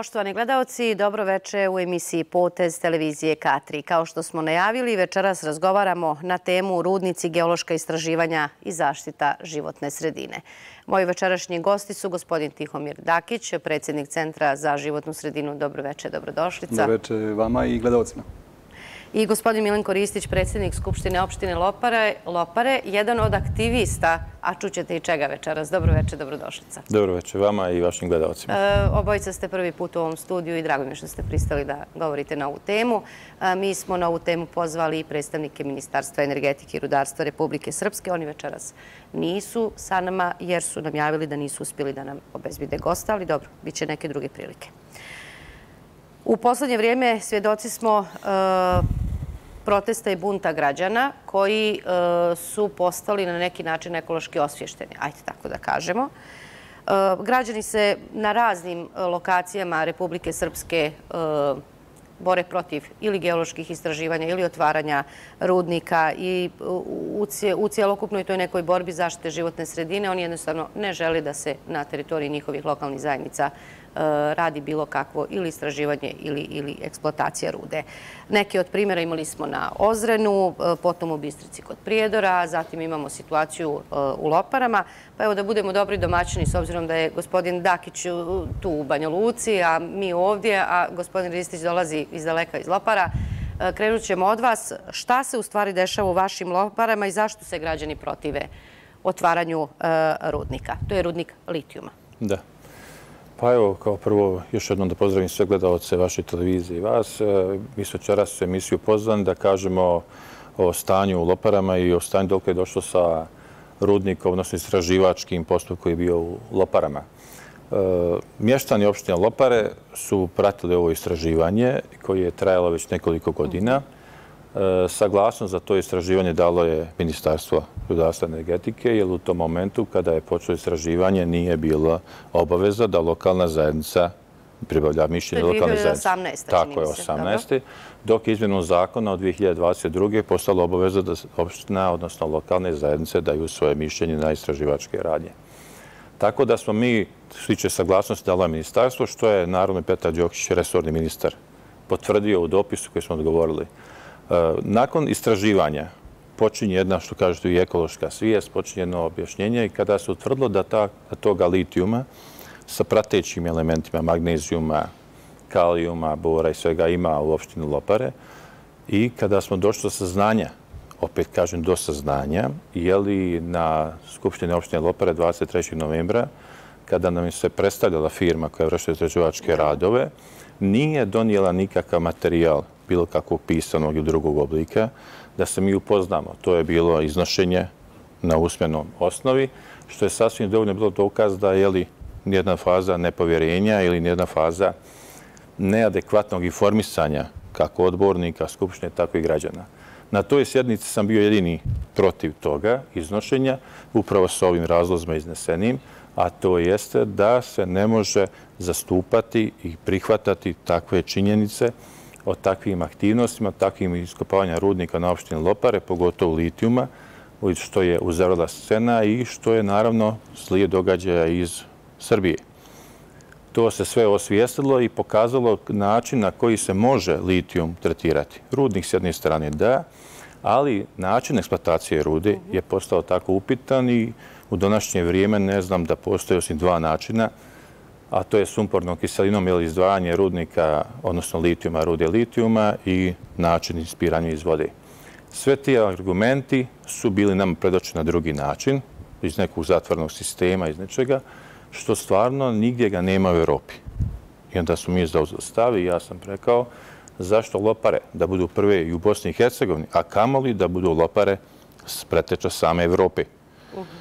Poštovani gledaoci, dobroveče u emisiji Potez televizije K3. Kao što smo najavili, večeras razgovaramo na temu rudnici, geološka istraživanja i zaštita životne sredine. Moji večerašnji gosti su gospodin Tihomir Dakić, predsjednik Centra za životnu sredinu. Dobroveče, dobrodošlica. Dobroveče vama i gledaocima. I gospodin Milenko Ristić, predsjednik Skupštine opštine Lopare, jedan od aktivista, a čućete i čega večeras. Dobroveče, dobrodošlica. Dobroveče vama i vašim gledalcima. Obojica ste prvi put u ovom studiju i drago mi je što ste pristali da govorite na ovu temu. Mi smo na ovu temu pozvali i predstavnike Ministarstva energetike i rudarstva Republike Srpske. Oni večeras nisu sa nama jer su nam javili da nisu uspjeli da nam obezbede gosta, ali dobro, bit će neke druge prilike. U poslednje vrijeme svjedoci smo protesta i bunta građana koji su postali na neki način ekološki osvješteni, ajde tako da kažemo. Građani se na raznim lokacijama Republike Srpske bore protiv ili geoloških istraživanja ili otvaranja rudnika i u cijelokupnoj toj nekoj borbi zaštite životne sredine oni jednostavno ne žele da se na teritoriji njihovih lokalnih zajednica radi bilo kakvo ili istraživanje ili eksploatacija rude. Neki od primjera imali smo na Ozrenu, potom u Bistrici kod Prijedora, zatim imamo situaciju u Loparama. Pa evo da budemo dobri domaćini s obzirom da je gospodin Dakić tu u Banja Luci, a mi ovdje, a gospodin Ristić dolazi iz daleka iz Lopara. Krenut ćemo od vas. Šta se u stvari dešava u vašim Loparama i zašto se građani protive otvaranju rudnika? To je rudnik litijuma. Da. Pa evo, kao prvo, još jednom da pozdravim sve gledaoce vaše televizije i vas. Mi smo večeras u emisiju pozvani da kažemo o stanju u Loparama i o stanju dok je došlo sa rudnikom, odnosno istraživačkim postupkom koji je bio u Loparama. Mještani opštine Lopare su pratili ovo istraživanje koje je trajalo već nekoliko godina. Saglasnost za to istraživanje dalo je Ministarstvo rudarstva i energetike, jer u tom momentu kada je počelo istraživanje nije bila obaveza da lokalna zajednica pribavlja mišljenje lokalne zajednice. To je 2018. Tako je, 18. Dok je izmjenom zakona od 2022. postala obaveza da opština, odnosno lokalne zajednice, daju svoje mišljenje na istraživačke radnje. Tako da smo mi, što se tiče saglasnosti, dalo je ministarstvo, što je naravno Petar Đokić, resorni ministar, potvrdio u dopisu koji smo odgovorili. Nakon istraživanja počinje jedna, što kažete, i ekološka svijest, počinje jedno objašnjenje i kada se utvrdilo da toga litijuma sa pratećim elementima magnezijuma, kalijuma, bora i svega ima u opštini Lopare i kada smo došli do saznanja, opet kažem do saznanja, je li na Skupštini opštine Lopare 23. novembra, kada nam se predstavljala firma koja je vršila istraživačke radove, nije donijela nikakav materijal bilo kakvog pisanog ili drugog oblika, da se mi upoznamo. To je bilo iznošenje na usmenom osnovi, što je sasvim dovoljno bilo dokaz da je li nijedna faza nepovjerenja ili nijedna faza neadekvatnog informisanja kako odbornika, skupštine, tako i građana. Na toj sjednici sam bio jedini protiv toga iznošenja, upravo sa ovim razlozima iznesenim, a to jeste da se ne može zastupati i prihvatati takve činjenice o takvim aktivnostima, takvim iskopavanja rudnika na opštini Lopare, pogotovo litijuma, što je uzvrla scena i što je naravno slijed događaja iz Srbije. To se sve osvijestilo i pokazalo način na koji se može litijum tretirati. Rudnik s jedne strane da, ali način eksploatacije rude je postao tako upitan i u današnje vrijeme ne znam da postoje osim dva načina, a to je sumpornom kiselinom ili izdvajanje rudnika, odnosno litijuma, rude litijuma i način ispiranja iz vode. Sve ti argumenti su bili nam predočeni na drugi način, iz nekog zatvornog sistema, iz nečega, što stvarno nigdje ga nema u Europi. I onda su mi zauzeli stav i ja sam rekao zašto Lopare da budu prve i u Bosni i Hercegovini, a kamoli da budu Lopare preteča same Evrope.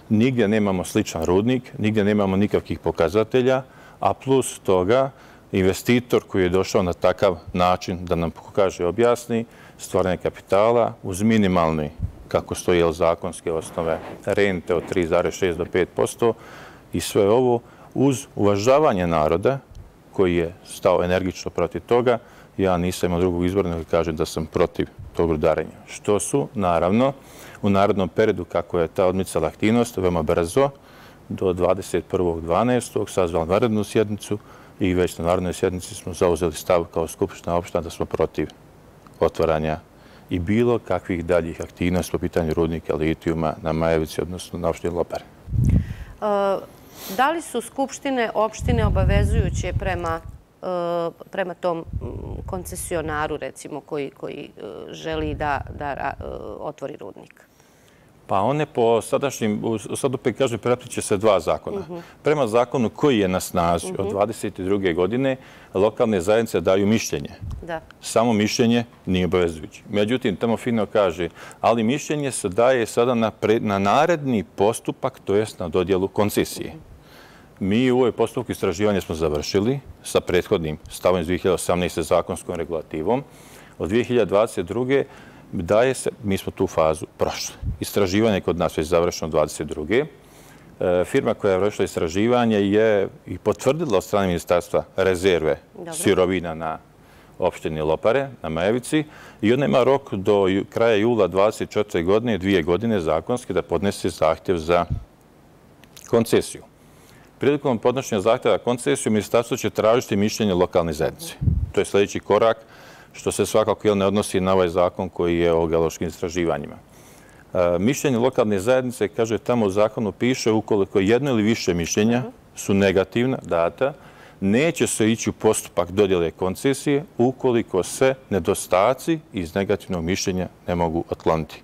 Nigdje nemamo sličan rudnik, nigdje nemamo nikakvih pokazatelja, a plus toga investitor koji je došao na takav način da nam pokaže i objasni stvaranje kapitala uz minimalni, kako stoji zakonske osnove, rente od 3,6 do 5% i sve ovo uz uvažavanje naroda koji je stao energično protiv toga, ja nisam imao drugog izbora nego kažem da sam protiv tog rudarenja. Što su, naravno, u narodnom periodu kako je ta odmicala aktivnost, veoma brzo, do 21.12. sazvala vanrednu sjednicu i već na narodnoj sjednici smo zauzeli stav kao Skupština opština da smo protiv otvaranja i bilo kakvih daljih aktivnosti po pitanju rudnika litijuma na Majevici, odnosno na opštini Lopare. Da li su skupštine opštine obavezujuće prema tom koncesionaru, recimo, koji želi da otvori rudnik? Pa one po sadašnjim, sad opet kažem, prepliče se dva zakona. Prema zakonu koji je na snazi od 22. godine, lokalne zajednice daju mišljenje. Samo mišljenje nije obavezujuće. Međutim, tamo fino kaže, ali mišljenje se daje sada na naredni postupak, to jest na dodjelu koncesije. Mi u ovoj postupku istraživanja smo završili sa prethodnim stavom iz 2018. zakonskom regulativom. Od 2022. daje se, mi smo tu fazu prošli. Istraživanje kod nas je završeno 22. Firma koja je vršila istraživanje je i potvrdila od strane ministarstva rezerve sirovina na opštini Lopare, na Majevici, i ona ima rok do kraja jula 24. godine, 2 godine zakonski, da podnese zahtjev za koncesiju. Prilikom podnošenja zahtjeva za koncesiju, ministarstvo će tražiti mišljenje lokalne zajednice. To je sljedeći korak, što se svakako ne odnosi na ovaj zakon koji je o geološkim istraživanjima. Mišljenje lokalne zajednice, kaže, tamo u zakonu piše, ukoliko jedno ili više mišljenja su negativna, data, neće se ići u postupak dodjele koncesije ukoliko se nedostaci iz negativnog mišljenja ne mogu otkloniti.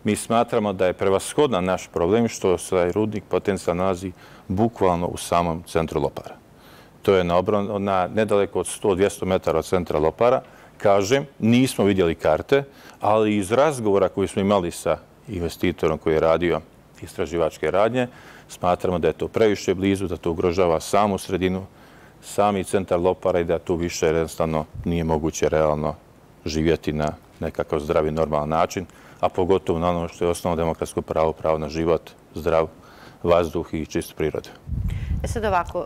Mi smatramo da je prevashodan naš problem što se rudnik potencijalno nalazi bukvalno u samom centru Lopara. To je nedaleko od 100-200 metara od centra Lopara. Kažem, nismo vidjeli karte, ali iz razgovora koji smo imali sa investitorom koji je radio istraživačke radnje, smatramo da je to previše blizu, da to ugrožava samu sredinu, sami centar Lopara i da tu više jednostavno nije moguće realno živjeti na nekakav zdravi, normalan način, a pogotovo na ono što je osnovno demokratsko pravo, pravo na život, zdrav vazduh i čistu prirodu. Sad ovako,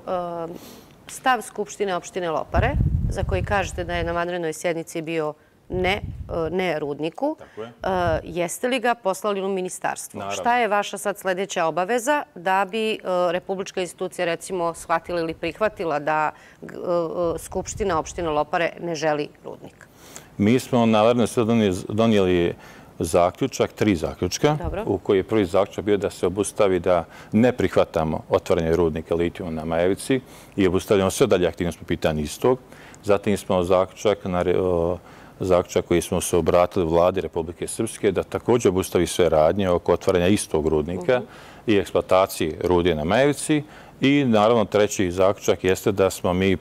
stav Skupštine opštine Lopare, za koji kažete da je na vanrednoj sjednici bio ne rudniku, jeste li ga poslali u ministarstvo? Šta je vaša sad sljedeća obaveza da bi republička institucija, recimo, shvatila ili prihvatila da Skupština opštine Lopare ne želi rudnik? Mi smo na vanrednoj sjednici donijeli zaključak, 3 zaključka, u koji je prvi zaključak bio da se obustavi da ne prihvatamo otvaranje rudnika litijuma na Majevici i obustavljamo sve dalje aktivnosti po pitanju istog. Zatim smo zaključak koji smo se obratili vladi Republike Srpske da također obustavi sve radnje oko otvaranja istog rudnika i eksploatacije rudija na Majevici. I naravno treći zaključak jeste da smo mi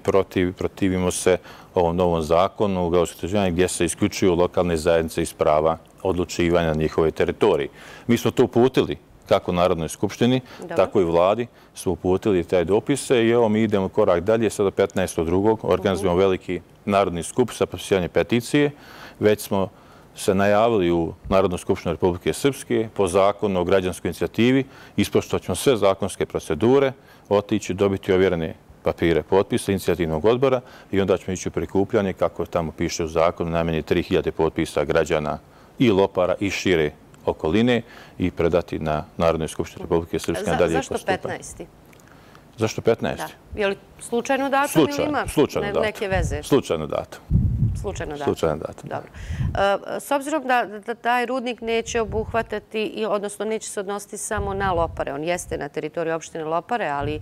protivimo se ovom novom zakonu u geološkom istraživanju gdje se isključuju lokalne zajednice iz prava odlučivanja na njihovoj teritoriji. Mi smo to uputili kako Narodnoj skupštini, tako i vladi smo uputili taj dopise i evo mi idemo korak dalje. Sada 15.2. organizujemo veliki narodni skup sa potpisivanjem peticije. Već smo se najavili u Narodnu skupštinu Republike Srpske po zakonu o građanskoj inicijativi, ispoštovat ćemo sve zakonske procedure, otići, dobiti ovjerene papire potpisa inicijativnog odbora i onda ćemo ići u prikupljanje, kako tamo piše u zakonu, najmanje 3000 potpisa građana i Lopara i šire okoline i predati na Narodnoj skupštini Republike Srpske. Zašto 15. Zašto 15? Je li slučajno datum ili ima neke veze? Slučajno datum. Slučajno datum. Dobro. S obzirom da taj rudnik neće obuhvatati, odnosno neće se odnositi samo na Lopare, on jeste na teritoriju opštine Lopare, ali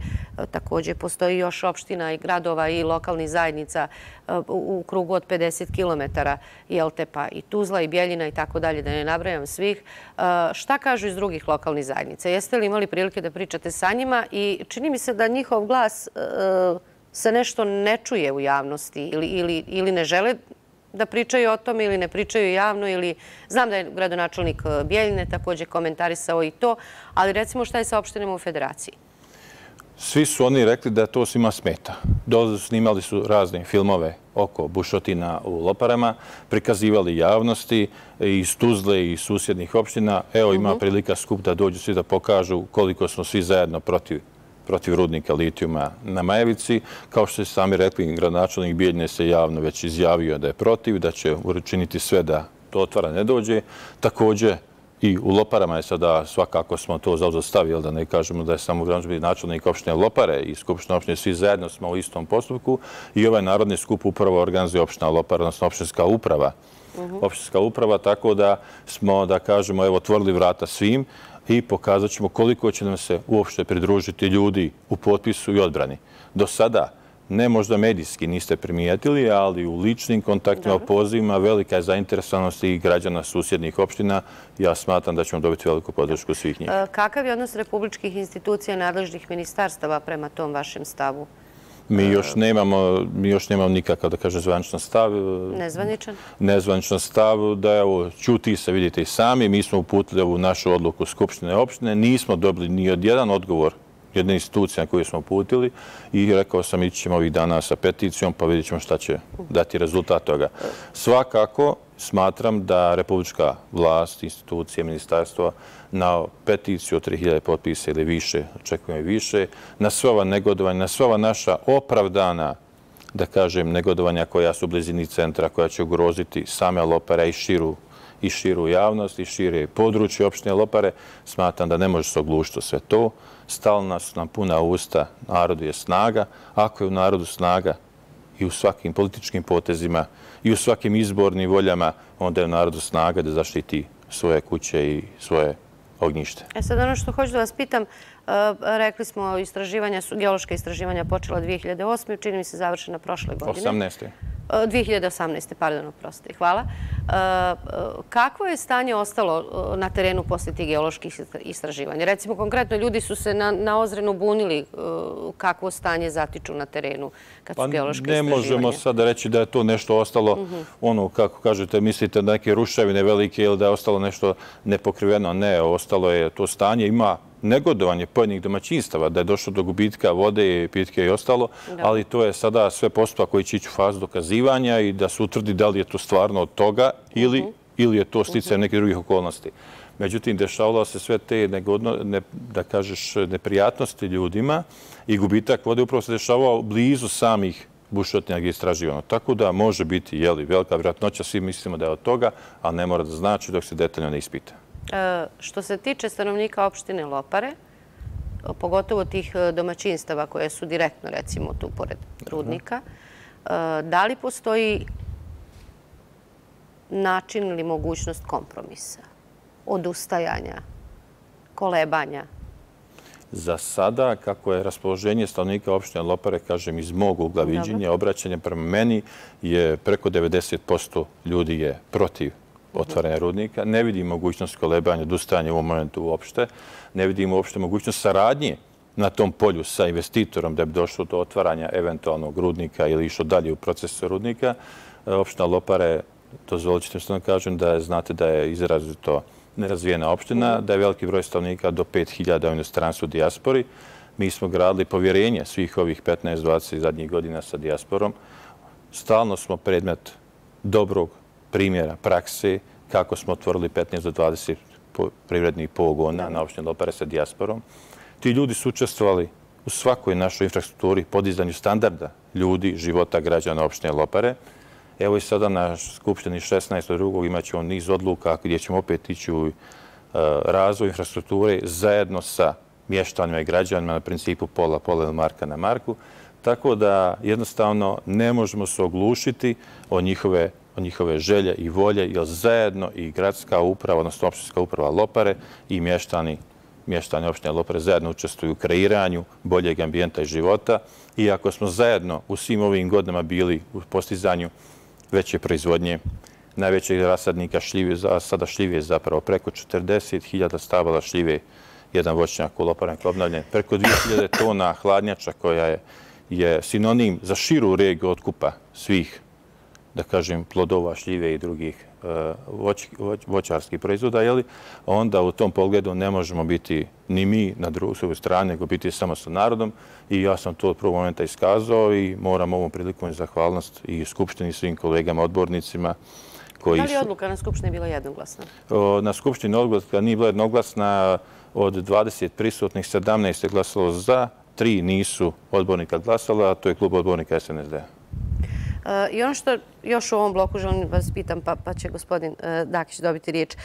također postoji još opština i gradova i lokalnih zajednica u krugu od 50 km, pa i Tuzla i Bjeljina i tako dalje, da ne nabrajam svih. Šta kažu iz drugih lokalnih zajednica? Jeste li imali prilike da pričate sa njima i čini mi se da njihov glas se nešto ne čuje u javnosti ili ne žele da pričaju o tome ili ne pričaju javno ili znam da je gradonačelnik Bjeljine također komentarisao i to, ali recimo šta je sa opštinama u Federaciji? Svi su oni rekli da to svima smeta. Snimali su razne filmove oko bušotina u Loparama, prikazivali javnosti iz Tuzle i susjednih opština. Evo ima prilika skup da dođu svi da pokažu koliko smo svi zajedno protiv rudnika litijuma na Majevici. Kao što ste sami rekli, gradonačelnik Bijeljine se javno već izjavio da je protiv, da će učiniti sve da to otvara ne dođe. Također, i u Loparama je sada svakako smo to zaustavili, da ne kažemo da je samo gradonačelnik načelnik opštine Lopare i skupština opštine, svi zajedno smo u istom postupku i ovaj narodni skup upravo organizuje opština Lopara, odnosno opštinska uprava. Opštinska uprava, tako da smo, da kažemo, evo, otvorili vrata svim i pokazat ćemo koliko će nam se uopšte pridružiti ljudi u potpisu i odbrani. Do sada, ne možda medijski niste primijetili, ali u ličnim kontaktima, pozivima, velika je zainteresovanost i građana susjednih opština. Ja smatram da ćemo dobiti veliku podršku svih njih. Kakav je odnos republičkih institucija i nadležnih ministarstava prema tom vašem stavu? Mi još nemamo nikakav, da kažem, zvaničan stav. Nezvaničan? Nezvaničan stav, da evo, ćuti se, vidite i sami. Mi smo uputili ovu našu odluku Skupštine opštine. Nismo dobili ni od jedan odgovor jedne institucije na koju smo uputili i rekao sam ići ćemo ovih dana sa peticijom pa vidjet ćemo šta će dati rezultat toga. Svakako smatram da republička vlast, institucije, ministarstvo na peticiju od 3000 potpisa ili više, očekujemo i više, na sve ova negodovanja, na sve ova naša opravdana, da kažem, negodovanja koja su u blizini centra, koja će ugroziti same Lopare i širu javnost i šire područje opštine Lopare, smatram da ne može se oglušiti sve to. Stalna su nam puna usta, narodu je snaga. Ako je u narodu snaga i u svakim političkim potezima i u svakim izbornim voljama, onda je u narodu snaga da zaštiti svoje kuće i svoje ognjište. Sad ono što hoću da vas pitam, rekli smo geološka istraživanja počela 2008. Čini mi se završena prošle godine. 2018. Pardon, oprostite. Hvala. Kakvo je stanje ostalo na terenu poslije tih geoloških istraživanja? Recimo, konkretno, ljudi su se na Ozrenu bunili kakvo stanje zatiču na terenu kad su geološke istraživanja. Ne možemo sada reći da je to nešto ostalo, ono, kako kažete, mislite da neke ruševine velike ili da je ostalo nešto nepokriveno. Ne, ostalo je to stanje. Ima negodovanje pojedinih domaćinstava, da je došlo do gubitka vode, pitke i ostalo, ali to je sada sve postupak koji će ići u fazu dokazivanja i da se utvrdi da li je to stvarno od toga ili je to sticaj nekih drugih okolnosti. Međutim, dešavalo se sve te, da kažeš, neprijatnosti ljudima i gubitak vode upravo se dešavao blizu samih bušotina gdje je istraživano. Tako da može biti velika vjerojatnoća, svi mislimo da je od toga, ali ne mora da znači dok se detaljno ne ispita. Što se tiče stanovnika opštine Lopare, pogotovo tih domaćinstava koje su direktno, recimo, tu pored rudnika, da li postoji način ili mogućnost kompromisa, odustajanja, kolebanja? Za sada, kako je raspoloženje stanovnika opštine Lopare, kažem, iz mog ugla viđenja, obraćanja prema meni, je preko 90% ljudi je protiv otvaranja rudnika. Ne vidim mogućnost kolebanja, odustajanja u ovom momentu uopšte. Ne vidim uopšte mogućnost saradnje na tom polju sa investitorom da bi došlo do otvaranja eventualnog rudnika ili išlo dalje u procesu rudnika. Opština Lopare, dozvolit ćete što da kažem, da znate da je izrazito nerazvijena opština, da je veliki broj stanovnika do 5000 u inostranstvu u dijaspori. Mi smo gradili povjerenje svih ovih 15-20 zadnjih godina sa dijasporom. Stalno smo predmet dobrog primjera prakse, kako smo otvorili 15 do 20 privrednih pogona na opštini Lopare sa dijasporom. Ti ljudi su učestvovali u svakoj našoj infrastrukturi, podizanju standarda ljudi, života građana opštine Lopare. Evo i sada na Skupštini 16.2. imat ćemo niz odluka gdje ćemo opet ići u razvoj infrastrukture zajedno sa mještanima i građanima na principu pola ili marka na marku. Tako da jednostavno ne možemo se oglušiti o njihove želje i volje, jer zajedno i gradska uprava, odnosno opštinska uprava Lopare i mještani opštine Lopare zajedno učestvuju u kreiranju boljeg ambijenta i života. Iako smo zajedno u svim ovim godinama bili u postizanju veće proizvodnje, najvećeg rasadnika šljive, sada šljive zapravo preko 40.000 stabala šljive, jedan voćnjak u Loparenku obnavljen, preko 2000 tona hladnjača koja je sinonim za širu regiju otkupa svih, da kažem, plodova, šljive i drugih voćarskih proizvoda, onda u tom pogledu ne možemo biti ni mi na drugoj strani, nego biti samo sa narodom. I ja sam to od prvog momenta iskazao i moram ovom prilikom zahvalnost i Skupštini, svim kolegama, odbornicima. Da li je odluka na Skupštini bila jednoglasna? Na Skupštini odluka nije bila jednoglasna. Od 20 prisutnih 17 je glasalo za, 3 nisu odbornika glasala, a to je klub odbornika SNSD. I ono što još u ovom bloku želim vas pitam, pa će gospodin Dakić dobiti riječ.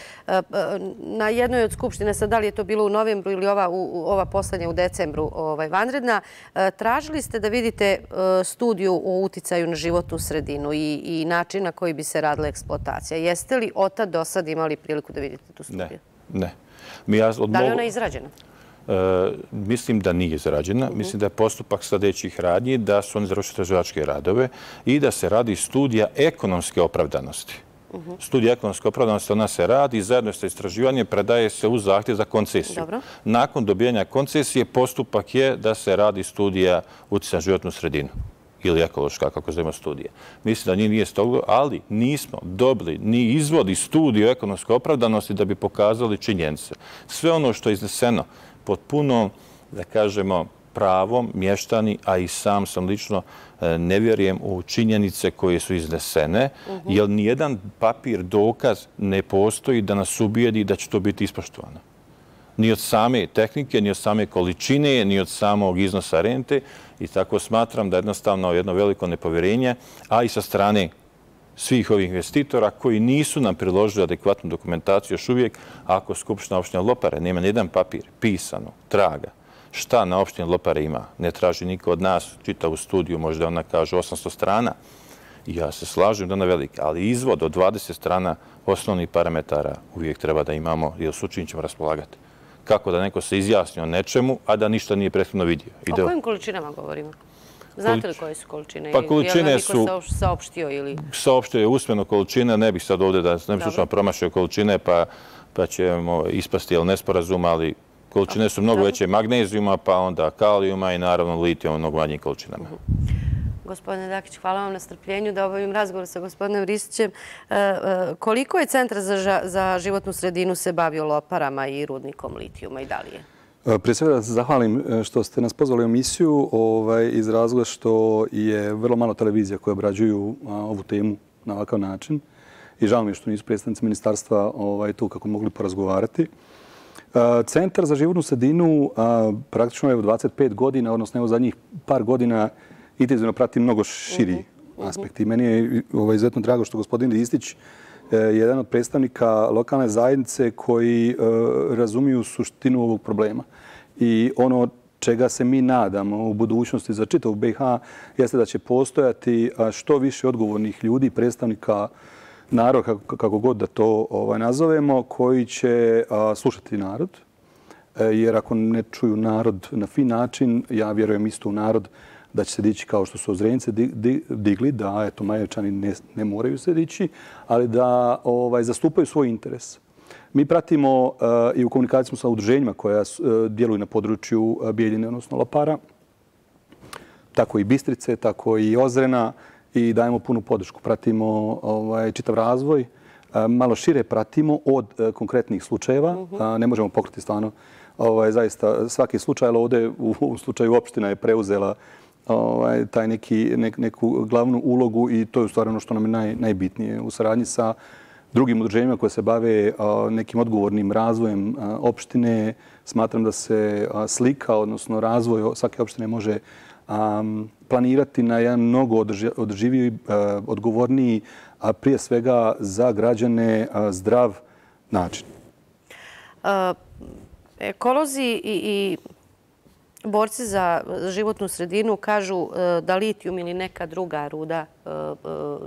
Na jednoj od skupštine, sad da li je to bilo u novembru ili ova poslednja u decembru vanredna, tražili ste da vidite studiju o uticaju na životnu sredinu i način na koji bi se radila eksploatacija. Jeste li od tad do sad imali priliku da vidite tu studiju? Ne. Da li je ona izrađena? Mislim da nije izrađena. Mislim da je postupak sljedećih radnji da su oni završili istraživačke radove i da se radi studija ekonomske opravdanosti. Studija ekonomske opravdanosti, ona se radi zajedno sa istraživanjem, predaje se u zahtjev za koncesiju. Nakon dobijanja koncesije postupak je da se radi studija utjecaja na životnu sredinu ili ekološka, kako zovemo studija. Mislim da njih nije stoga, ali nismo dobili ni izvodi studiju ekonomske opravdanosti da bi pokazali činjenice. Sve ono što je izneseno pod punom, da kažemo, pravom, mještani, a i sam lično ne vjerujem u činjenice koje su iznesene, jer nijedan papir, dokaz ne postoji da nas ubijedi da će to biti ispoštovano. Ni od same tehnike, ni od same količine, ni od samog iznosa rente. I tako smatram da jednostavno jedno veliko nepovjerenje, a i sa strane svih ovih investitora koji nisu nam priložili adekvatnu dokumentaciju još uvijek, ako Skupština opštine Lopare nema nijedan papir pisano, traga, šta na opštini Lopare ima, ne traži niko od nas, čitavu studiju, možda ona kaže 800 strana. I ja se slažem da ona velika, ali izvod od 20 strana osnovnih parametara uvijek treba da imamo, jer s učin ćemo raspolagati. Kako da neko se izjasni o nečemu, a da ništa nije prethodno vidio. O kojim količinama govorimo? Znate li koje su količine? Pa količine su... Je li neko saopštio ili... Saopštio je usmeno količine, ne bih sad ovdje da ne bih slučajno promašio količine, pa ćemo ispasti nesporazum, ali količine su mnogo veće magnezijuma, pa onda kalijuma i naravno litijuma u mnogo manjim količinama. Gospodine Dakić, hvala vam na strpljenju da obavim razgovor sa gospodinom Ristićem. Koliko je Centar za životnu sredinu se bavio Loparama i rudnikom litijuma i da li je? Prije svega da se zahvalim što ste nas pozvali u emisiju iz razloga što je vrlo malo televizija koje obrađuju ovu temu na ovakav način. I žao mi je što nisu predstavnici ministarstva tu kako mogli porazgovarati. Centar za životnu sredinu praktično je u 25 godina, odnosno evo zadnjih par godina, intenzivno prati mnogo širi aspekt. I meni je izuzetno drago što gospodin Ristić je jedan od predstavnika lokalne zajednice koji razumiju suštinu ovog problema. I ono čega se mi nadamo u budućnosti za čitavu BiH jeste da će postojati što više odgovornih ljudi, predstavnika naroda, kako god da to nazovemo, koji će slušati narod. Jer ako ne čuju narod na fin način, ja vjerujem isto u narod da će se dići kao što su Ozrenjce digli, da eto Majevčani ne moraju se dići, ali da zastupaju svoj interes. Mi pratimo i u komunikaciji sa udruženjima koja djeluju na području Bijeljine, odnosno Lopara, tako i Bistrice, tako i Ozrena i dajemo punu podršku. Pratimo čitav razvoj, malo šire pratimo od konkretnih slučajeva. Ne možemo pokriti stvarno zaista svaki slučaj, ali ovdje u slučaju opština je preuzela taj neku glavnu ulogu i to je u stvari ono što nam je najbitnije. U saradnji sa drugim udruženjima koje se bave nekim odgovornim razvojem opštine, smatram da se slika, odnosno razvoj svake opštine može planirati na jedan mnogo održiviji, odgovorniji, a prije svega za građane zdrav način. Ekolozi i borci za životnu sredinu kažu da litijum ili neka druga ruda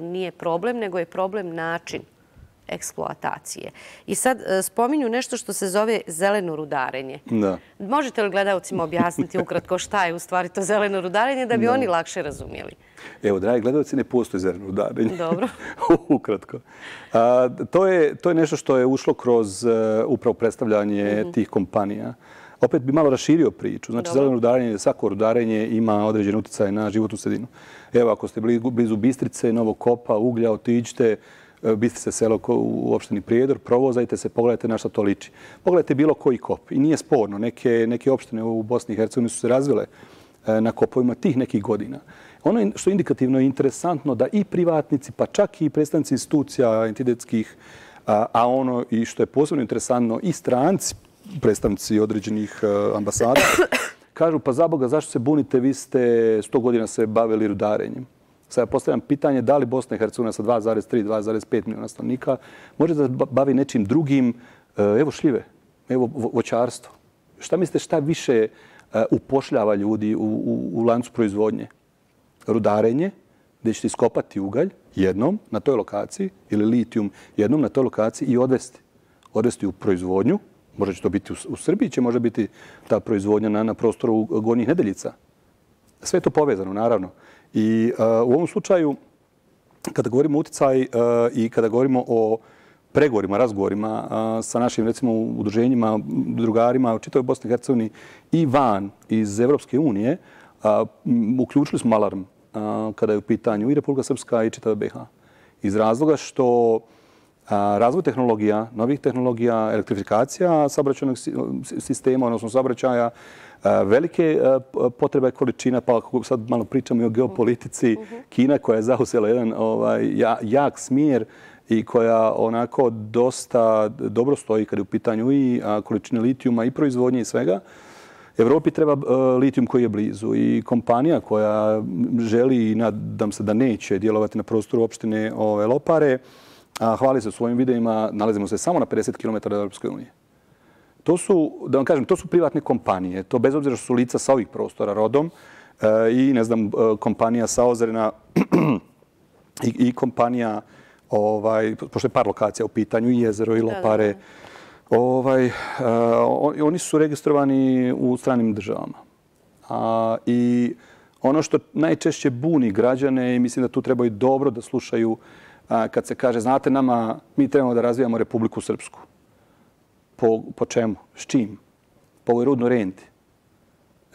nije problem, nego je problem način eksploatacije. I sad spominju nešto što se zove zeleno rudarenje. Možete li gledalcima objasniti ukratko šta je u stvari to zeleno rudarenje da bi oni lakše razumjeli? Evo, dragi gledalci, ne postoji zeleno rudarenje. Dobro. Ukratko. To je nešto što je ušlo kroz upravo predstavljanje tih kompanija. Opet bi malo raširio priču. Znači, zeleno rudarenje, svako rudarenje ima određen utjecaj na životnu sredinu. Evo, ako ste blizu Bistrice, Novog Kopa, Uglja, otiđite, Bistrice selo u opštini Prijedor, provozajte se, pogledajte na što to liči. Pogledajte bilo koji kop. I nije sporno. Neke opštine u Bosni i Hercegovini su se razvile na kopovima tih nekih godina. Ono što je indikativno i interesantno da i privatnici, pa čak i predstavnici institucija entidetskih, a ono i što je posebno interesantno i stranci, predstavnici određenih ambasada, kažu pa za Boga zašto se bunite, vi ste 100 godina se bavili rudarenjem. Sad ja postavljam pitanje da li Bosna i Hercegovina sa 2,3, 2,5 milijuna stanovnika može da bavi nečim drugim, evo šljive, evo voćarstvo. Šta mislite šta više upošljava ljudi u lancu proizvodnje? Rudarenje, gdje ćete iskopati ugalj jednom na toj lokaciji ili litijum jednom na toj lokaciji i odvesti u proizvodnju. Možda će to biti u Srbiji, će možda biti ta proizvodnja na prostoru Gornjih Nedeljica. Sve je to povezano, naravno. I u ovom slučaju, kada govorimo o uticaj i kada govorimo o pregovorima, razgovorima sa našim, recimo, udruženjima, drugarima u čitavoj Bosni i Hercegovini i van iz Evropske unije, uključili smo alarm kada je u pitanju i Republika Srpska i čitava BiH. Iz razloga što razvoj tehnologija, novih tehnologija, elektrifikacija saobraćajnog sistema, odnosno saobraćaja, velike potrebe količina, pa ako sad malo pričamo i o geopolitici, Kina koja je zauzela jedan jak smjer i koja onako dosta dobro stoji kada je u pitanju i količine litijuma i proizvodnje i svega. Evropi treba litijum koji je blizu i kompanija koja želi i nadam se da neće djelovati na prostoru opštine Lopare, hvali se u svojim videima, nalazimo se samo na 50 km od Europske unije. To su, da vam kažem, to su privatne kompanije. To bez obzira što su lica sa ovih prostora rodom i, ne znam, kompanija sa Ozrena i kompanija, pošto je par lokacija u pitanju, i Jezero i Lopare, oni su registrovani u stranim državama. I ono što najčešće buni građane, i mislim da tu trebaju dobro da slušaju kad se kaže, znate nama, mi trebamo da razvijamo Republiku Srpsku. Po čemu? S čim? Po ovoj rudnoj renti.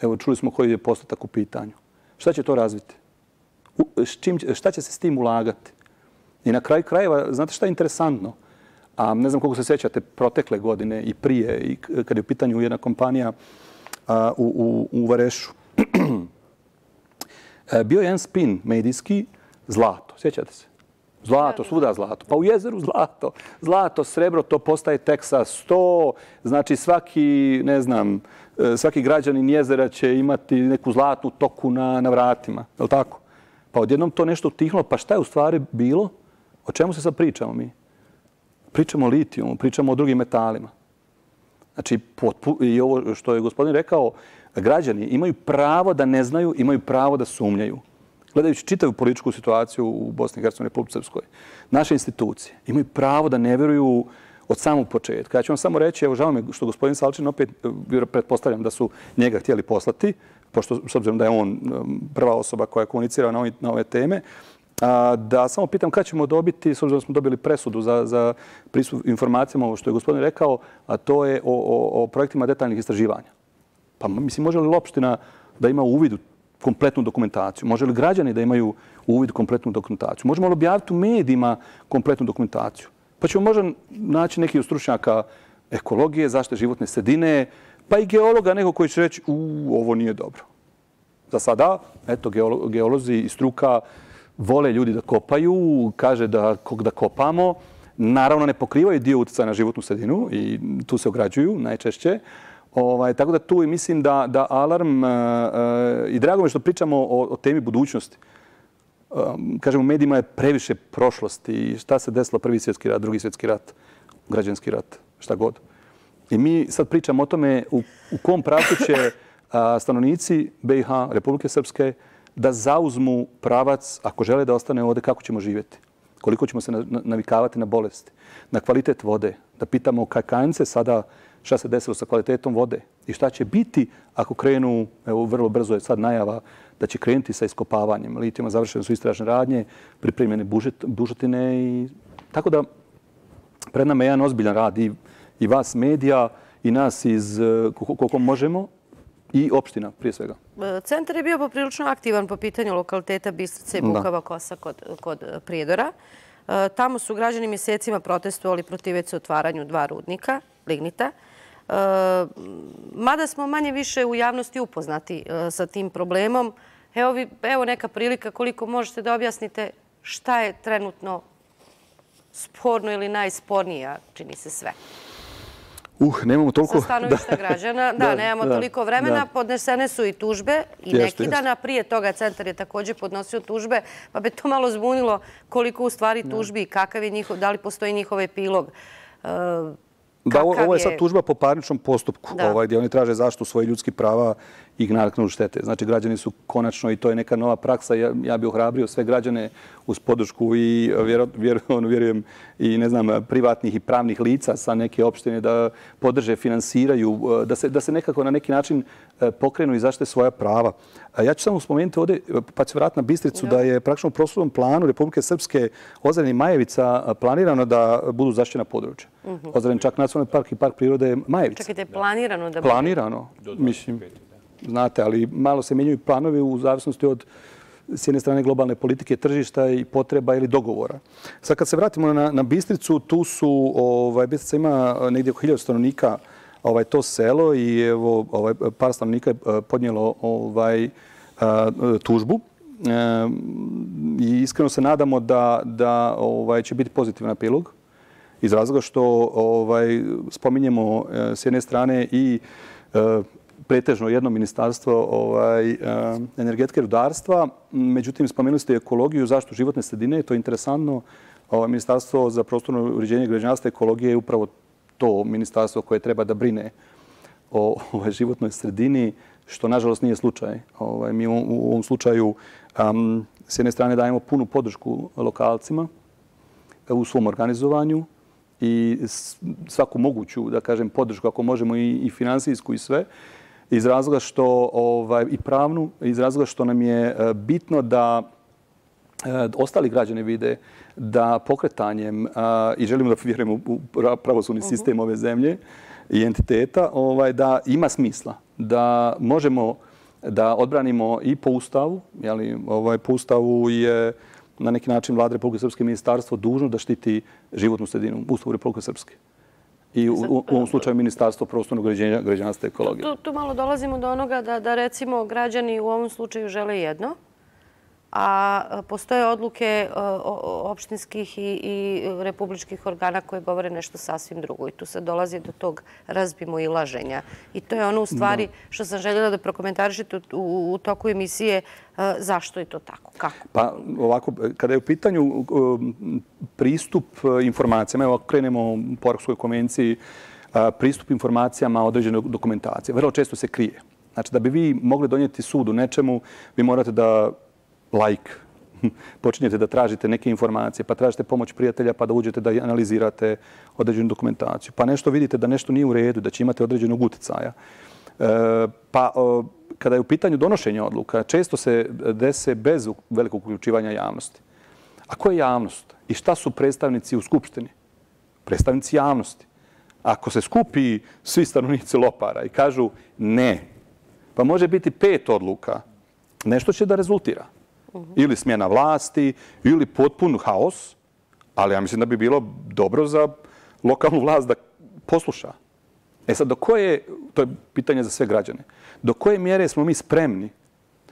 Evo, čuli smo koji je postotak u pitanju. Šta će to razviti? Šta će se s tim ulagati? I na kraju krajeva, znate šta je interesantno? Ne znam koliko se sjećate protekle godine i prije, i kad je u pitanju jedna kompanija u Varešu. Bio je jedan spin medijski, zlato. Sjećate se? Zlato, svuda zlato. Pa u Jezeru zlato. Zlato, srebro, to postaje Teksas 100. Znači svaki, ne znam, svaki građanin Jezera će imati neku zlatnu toku na vratima. Je li tako? Pa odjednom to nešto utihlo. Pa šta je u stvari bilo? O čemu se sad pričamo mi? Pričamo o litijumu, pričamo o drugim metalima. Znači, i ovo što je gospodin rekao, građani imaju pravo da ne znaju, imaju pravo da sumnjaju. Gledajući čitavu političku situaciju u Bosni i Hercegovini, Republici Srpskoj, naše institucije imaju pravo da ne vjeruju od samog početka. Ja ću vam samo reći, evo žao mi što gospodin Salčin opet, pretpostavljam da su njega htjeli poslati, pošto s obzirom da je on prva osoba koja komunicira na ove teme, da samo pitam kada ćemo dobiti, s obzirom da smo dobili presudu za pristup informacijama, ovo što je gospodin rekao, a to je o projektima detaljnih istraživanja. Pa mislim, može li opština da ima uvid u kompletnu dokumentaciju? Može li građani da imaju uvid u kompletnu dokumentaciju? Možemo li objaviti u medijima kompletnu dokumentaciju? Pa ćemo možda naći neki od stručnjaka ekologije, zaštite životne sredine, pa i geologa, neko koji će reći ovo nije dobro. Za sada, eto, geolozi i struka vole ljudi da kopaju, kaže da kopamo. Naravno, ne pokrivaju dio utjecaja na životnu sredinu i tu se ograđuju najčešće. Tako da tu mislim da alarm, i drago mi što pričamo o temi budućnosti. Kažem, u medijima je previše prošlosti. Šta se desilo? Prvi svjetski rat, drugi svjetski rat, građanski rat, šta god. I mi sad pričamo o tome u kom pravcu će stanovnici BiH, Republike Srpske, da zauzmu pravac, ako žele da ostane ovdje, kako ćemo živjeti. Koliko ćemo se navikavati na bolesti, na kvalitet vode. Da pitamo kakanice sada šta se desilo sa kvalitetom vode i šta će biti ako krenu, evo vrlo brzo je sad najava da će krenuti sa iskopavanjem litijuma, završene su istražne radnje, pripremljene bušotine i tako da pred nama je jedan ozbiljan rad i vas medija i nas iz koliko možemo i opština prije svega. Centar je bio poprilično aktivan po pitanju lokaliteta Bistrica i Bukava Kosa kod Prijedora. Tamo su građani mjesecima protestovali protiv otvaranju 2 rudnika, lignita. Mada smo manje više u javnosti upoznati sa tim problemom, evo neka prilika koliko možete da objasnite šta je trenutno sporno ili najspornije, čini se sve. Nemamo toliko... Sa stanovišta građana. Da, nemamo toliko vremena. Podnesene su i tužbe i neki dana prije toga centar je također podnosio tužbe, pa bi to malo zbunilo koliko u stvari tužbi i kakav je njihov, da li postoji njihov epilog. Da, ovo je sad tužba po parničnom postupku, gdje oni traže zaštitu svojih ljudskih prava i naknadu štete. Znači, građani su konačno, i to je neka nova praksa, ja bih ohrabrio sve građane uz podršku i vjerujem i ne znam, privatnih i pravnih lica sa neke opštine da podrže, finansiraju, da se nekako na neki način pokrenu i zaštite svoja prava. Ja ću samo spomenuti ovdje, pa ću vratiti na Bistricu, da je praktično u prostornom planu Republike Srpske Ozren i Majevica planirano da budu zaštićena područja. Ozren čak nacionalni park i park prirode Majevica. Čekajte, planirano da bude? Planirano, mislim. Znate, ali malo se mijenjaju planovi u zavisnosti od s jedne strane globalne politike, tržišta i potreba ili dogovora. Sad kad se vratimo na Bistricu, tu su, Bistrica ima negdje oko 1000 stanovnika to selo i evo par stanovnika je podnijelo tužbu i iskreno se nadamo da će biti pozitivan epilog iz razloga što spominjemo s jedne strane i pretežno jedno ministarstvo energetike i rudarstva. Međutim, spomenuli ste ekologiju i zaštitu životne sredine. To je interesantno. Ministarstvo za prostorno uređenje građevinarstva i ekologije je upravo to ministarstvo koje treba da brine o životnoj sredini, što nažalost nije slučaj. Mi u ovom slučaju s jedne strane dajemo punu podršku lokalcima u svom organizovanju i svaku moguću, da kažem, podršku, ako možemo i finansijsku i sve, iz razloga što, i pravnu, iz razloga što nam je bitno da ostali građani vide da pokretanjem, i želimo da vjerujemo u pravosudni sistem ove zemlje i entiteta, da ima smisla, da možemo da odbranimo i po Ustavu, po Ustavu je na neki način Vlada Republike Srpske ministarstvo dužno da štiti životnu sredinu, Ustavu Republike Srpske. I u ovom slučaju Ministarstvo prostornog uređenja, građevinarstva i ekologije. Tu malo dolazimo do onoga da recimo građani u ovom slučaju žele jedno, a postoje odluke opštinskih i republičkih organa koje govore nešto sasvim drugo. I tu se dolazi do tog razmimoilaženja. I to je ono u stvari što sam željela da prokomentarišete u toku emisije. Zašto je to tako? Kako? Pa ovako, kada je u pitanju pristup informacijama, evo krenemo po Arhurskoj konvenciji, pristup informacijama određene dokumentacije. Vrlo često se krije. Znači, da bi vi mogli donijeti sud u nečemu, vi morate da počinjete da tražite neke informacije, pa tražite pomoć prijatelja, pa da uđete da analizirate određenu dokumentaciju. Pa nešto vidite da nešto nije u redu, da će imati određenog uticaja. Pa kada je u pitanju donošenja odluka, često se dese bez velikog uključivanja javnosti. A ko je javnost? I šta su predstavnici u Skupštini? Predstavnici javnosti. Ako se skupi svi stanovnici Lopara i kažu ne, pa može biti 5 odluka, nešto će da rezultira. Ili smjena vlasti, ili potpun haos, ali ja mislim da bi bilo dobro za lokalnu vlast da posluša. Sad, to je pitanje za sve građane, do koje mjere smo mi spremni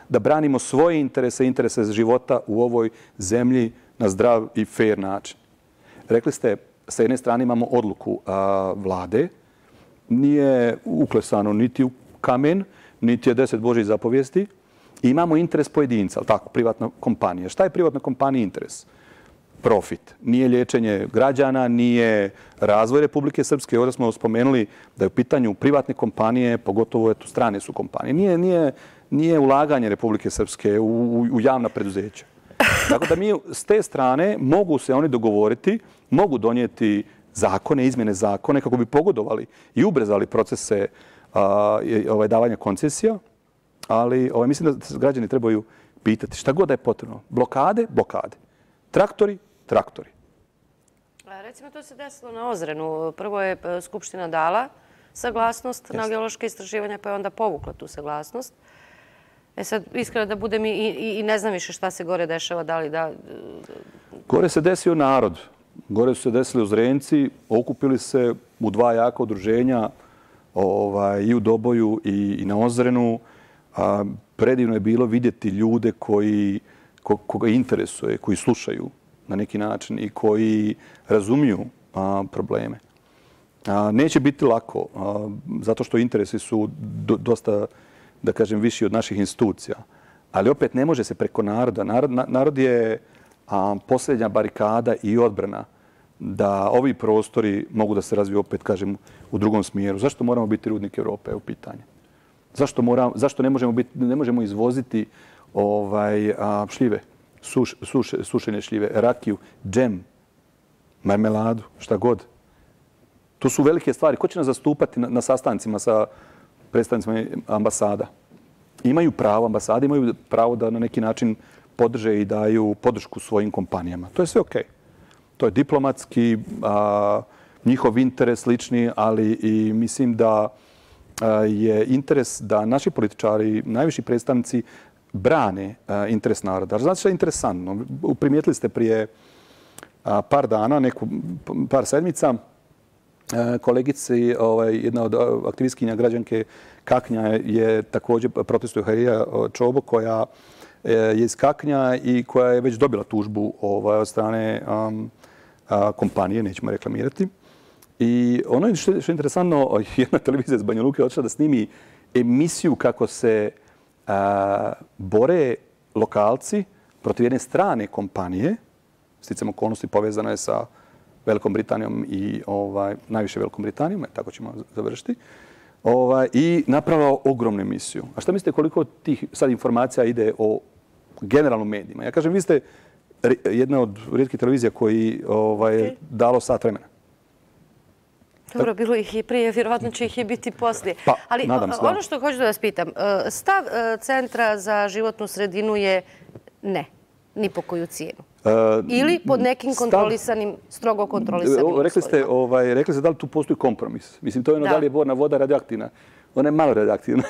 da branimo svoje interese, interese života u ovoj zemlji na zdrav i fair način. Rekli ste, sa jedne strane imamo odluku vlade, nije uklesano niti u kamen, niti je 10 Božjih zapovijesti, i imamo interes pojedinca, ali tako, privatna kompanija. Šta je privatna kompanija interes? Profit. Nije liječenje građana, nije razvoj Republike Srpske. Ovdje smo spomenuli da je u pitanju privatne kompanije, pogotovo strane su kompanije. Nije ulaganje Republike Srpske u javna preduzeća. Tako da mi s te strane mogu se oni dogovoriti, mogu donijeti zakone, izmjene zakone kako bi pogodovali i ubrzali procese davanja koncesija. Ali mislim da se građani trebaju pitati šta god da je potrebno. Blokade, blokade. Traktori, traktori. Recimo, to se desilo na Ozrenu. Prvo je Skupština dala saglasnost na geološke istraživanja, pa je onda povukla tu saglasnost. Sad, iskreno da budem i ne znam više šta se gore dešava, da li da... Gore se desio narod. Gore su se desili Ozrenci, okupili se u 2 jaka udruženja i u Doboju i na Ozrenu. Predivno je bilo vidjeti ljude koga interesuje, koji slušaju na neki način i koji razumiju probleme. Neće biti lako, zato što interesi su dosta, da kažem, viši od naših institucija. Ali opet ne može se preko naroda. Narod je posljednja barikada i odbrana da ovi prostori mogu da se razviju, opet kažem, u drugom smjeru. Zašto moramo biti rudnik Evrope, u pitanje? Zašto ne možemo izvoziti šljive, sušene šljive, rakiju, džem, marmeladu, šta god? To su velike stvari. Ko će nas zastupati na sastancima sa predstavnicima ambasada? Imaju pravo, ambasade imaju pravo da na neki način podrže i daju podršku svojim kompanijama. To je sve okej. To je diplomatski, njihov interes lični, ali i mislim da je interes da naši političari, najviši predstavnici, brane interes naroda. Znate što je interesantno? Primijetili ste prije par dana, par sedmica, kolegici, jedna od aktivistkinja građanke Kaknja je također protestuje Harija Čobo, koja je iz Kaknja i koja je već dobila tužbu od strane kompanije, nećemo reklamirati. I ono što je interesantno, jedna televizija iz Banja Luke odšla da snimi emisiju kako se bore lokalci protiv jedne strane kompanije, sticam okolnosti povezano je sa Velikom Britanijom i najviše Velikom Britanijom, tako ćemo završiti, i napravila ogromnu emisiju. A šta mislite koliko tih sad informacija ide o generalnom medijima? Ja kažem, vi ste jedna od rijetkih televizija koji je dalo sat vremena. Dobro, bilo ih i prije, vjerovatno će ih i biti poslije. Ali ono što hoću da vas pitam, stav Centra za životnu sredinu je ne, ni po koju cijenu. Ili pod nekim kontrolisanim, strogo kontrolisanim uslovima. Rekli ste da li tu postoji kompromis. Mislim, to je ono da li je borna voda radioaktivna. Ona je malo radioaktivna.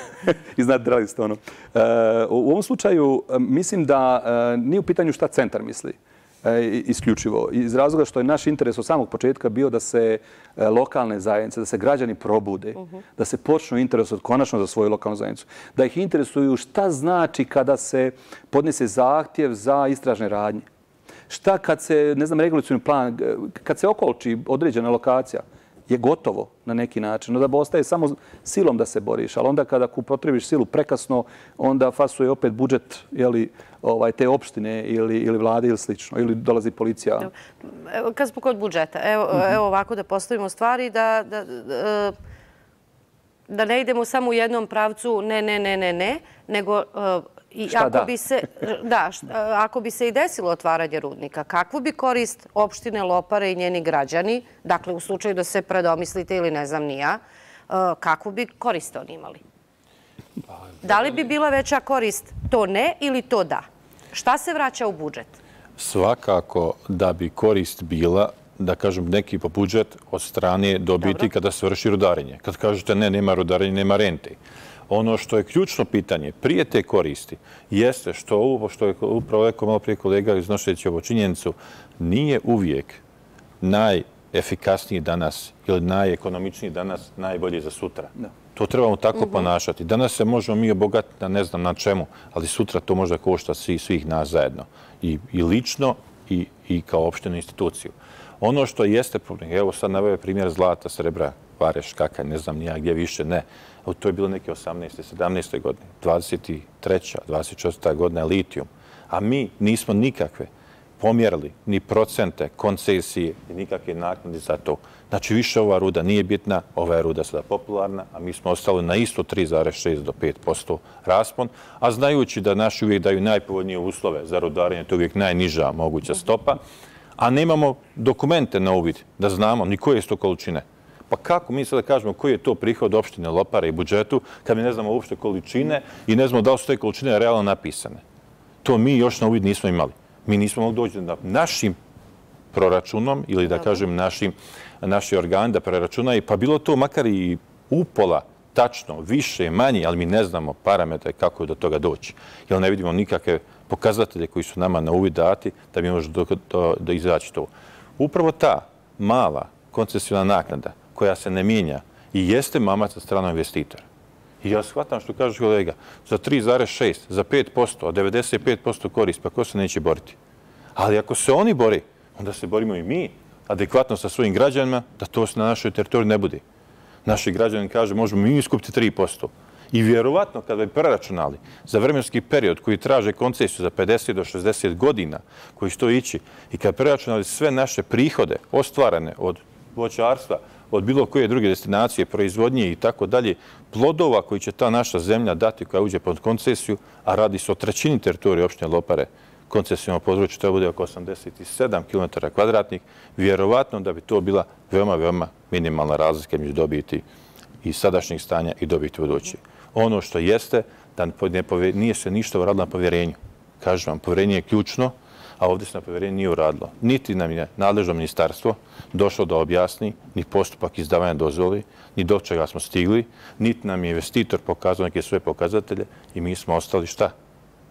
I znate da li ste ono. U ovom slučaju mislim da nije u pitanju šta centar misli. Isključivo. Iz razloga što je naš interes od samog početka bio da se lokalne zajednice, da se građani probude, da se počnu interesovati konačno za svoju lokalnu zajednicu. Da ih interesuju šta znači kada se podnese zahtjev za istražne radnje. Šta kad se, ne znam, regulacioni plan, kad se okolči određena lokacija, je gotovo na neki način. Da ostaje samo silom da se boriš, ali onda kada upotrebiš silu prekasno, onda fasuje opet budžet te opštine ili vlade ili slično, ili dolazi policija. Kad smo kod budžeta, evo ovako da postavimo stvari, da ne idemo samo u jednom pravcu ne, nego ako bi se i desilo otvaranje rudnika, kakvu bi korist opštine Lopare i njeni građani, dakle u slučaju da se predomislite ili ne znam ni ja, kakvu bi korist oni imali? Da li bi bila veća korist to ne ili to da? Šta se vraća u budžet? Svakako da bi korist bila, da kažem, neki po budžet od strane dobiti kada se vrši rudarenje. Kad kažete ne, nema rudarenja, nema rente. Ono što je ključno pitanje prije te koristi jeste što je upravo rekao malo prije kolega iznošeći ovu činjenicu, nije uvijek najefikasniji danas ili najekonomičniji danas najbolji za sutra. To trebamo tako ponašati. Danas se možemo mi obogatiti na ne znam na čemu, ali sutra to možda košta svih nas zajedno. I lično i kao opštenu instituciju. Ono što jeste problem, evo sad naveo primjer zlata, srebra, Vareš, Kakanj, ne znam nija gdje više ne. To je bilo neke 18. 17. godine, 23. 24. godina je litijum. A mi nismo nikakve pomjerili ni procente, koncesije i nikakve naknade za to. Znači više ova ruda nije bitna, ova je ruda sada popularna, a mi smo ostali na isto 3,6 do 5% raspon, a znajući da naši uvijek daju najpovoljnije uslove za rudarenje, to je uvijek najniža moguća stopa, a nemamo dokumente na uvid da znamo ni koje su to količine. Pa kako mi sada kažemo koji je to prihod opštine Lopare i budžetu kad mi ne znamo uopšte količine i ne znamo da li su te količine realno napisane? To mi još na uvid nismo imali. Mi nismo mogli doći da našim proračunom ili da kažem naši organi da preračunaju, pa bilo to makar i upola tačno, više, manje, ali mi ne znamo parametre kako je do toga doći. Jer ne vidimo nikakve pokazatelje koji su nama na uvid dati da bi možemo da izaći to. Upravo ta mala koncesiona naknada koja se ne mijenja i jeste mamac za stranog investitora. I ja shvatam što kaže kolega, za 3,6, za 5%, a 95% korist, pa ko se neće boriti? Ali ako se oni bori, onda se borimo i mi. adekvatno sa svojim građanima, da to se na našoj teritoriji ne bude. Naši građani kaže možemo mi iskupiti 3%. I vjerovatno kada bi preračunali za vremenski period koji traže koncesiju za 50 do 60 godina koji će to ići i kada preračunali sve naše prihode ostvarene od voćarstva, od bilo koje druge destinacije, proizvodnje i tako dalje, plodova koji će ta naša zemlja dati koja uđe pod koncesiju, a radi se o trećini teritorije opštine Lopare, koncesijom području to bude oko 87 km2, vjerovatno da bi to bila veoma, veoma minimalna razlika među dobiti i sadašnjih stanja i dobiti budući. Ono što jeste da nije se ništa uradilo na povjerenju. Kažem vam, povjerenje je ključno, a ovdje se na povjerenje nije uradilo. Niti nam je nadležno ministarstvo došlo da objasni ni postupak izdavanja dozvoli, ni do čega smo stigli, niti nam je investitor pokazao neke svoje pokazatelje i mi smo ostali šta?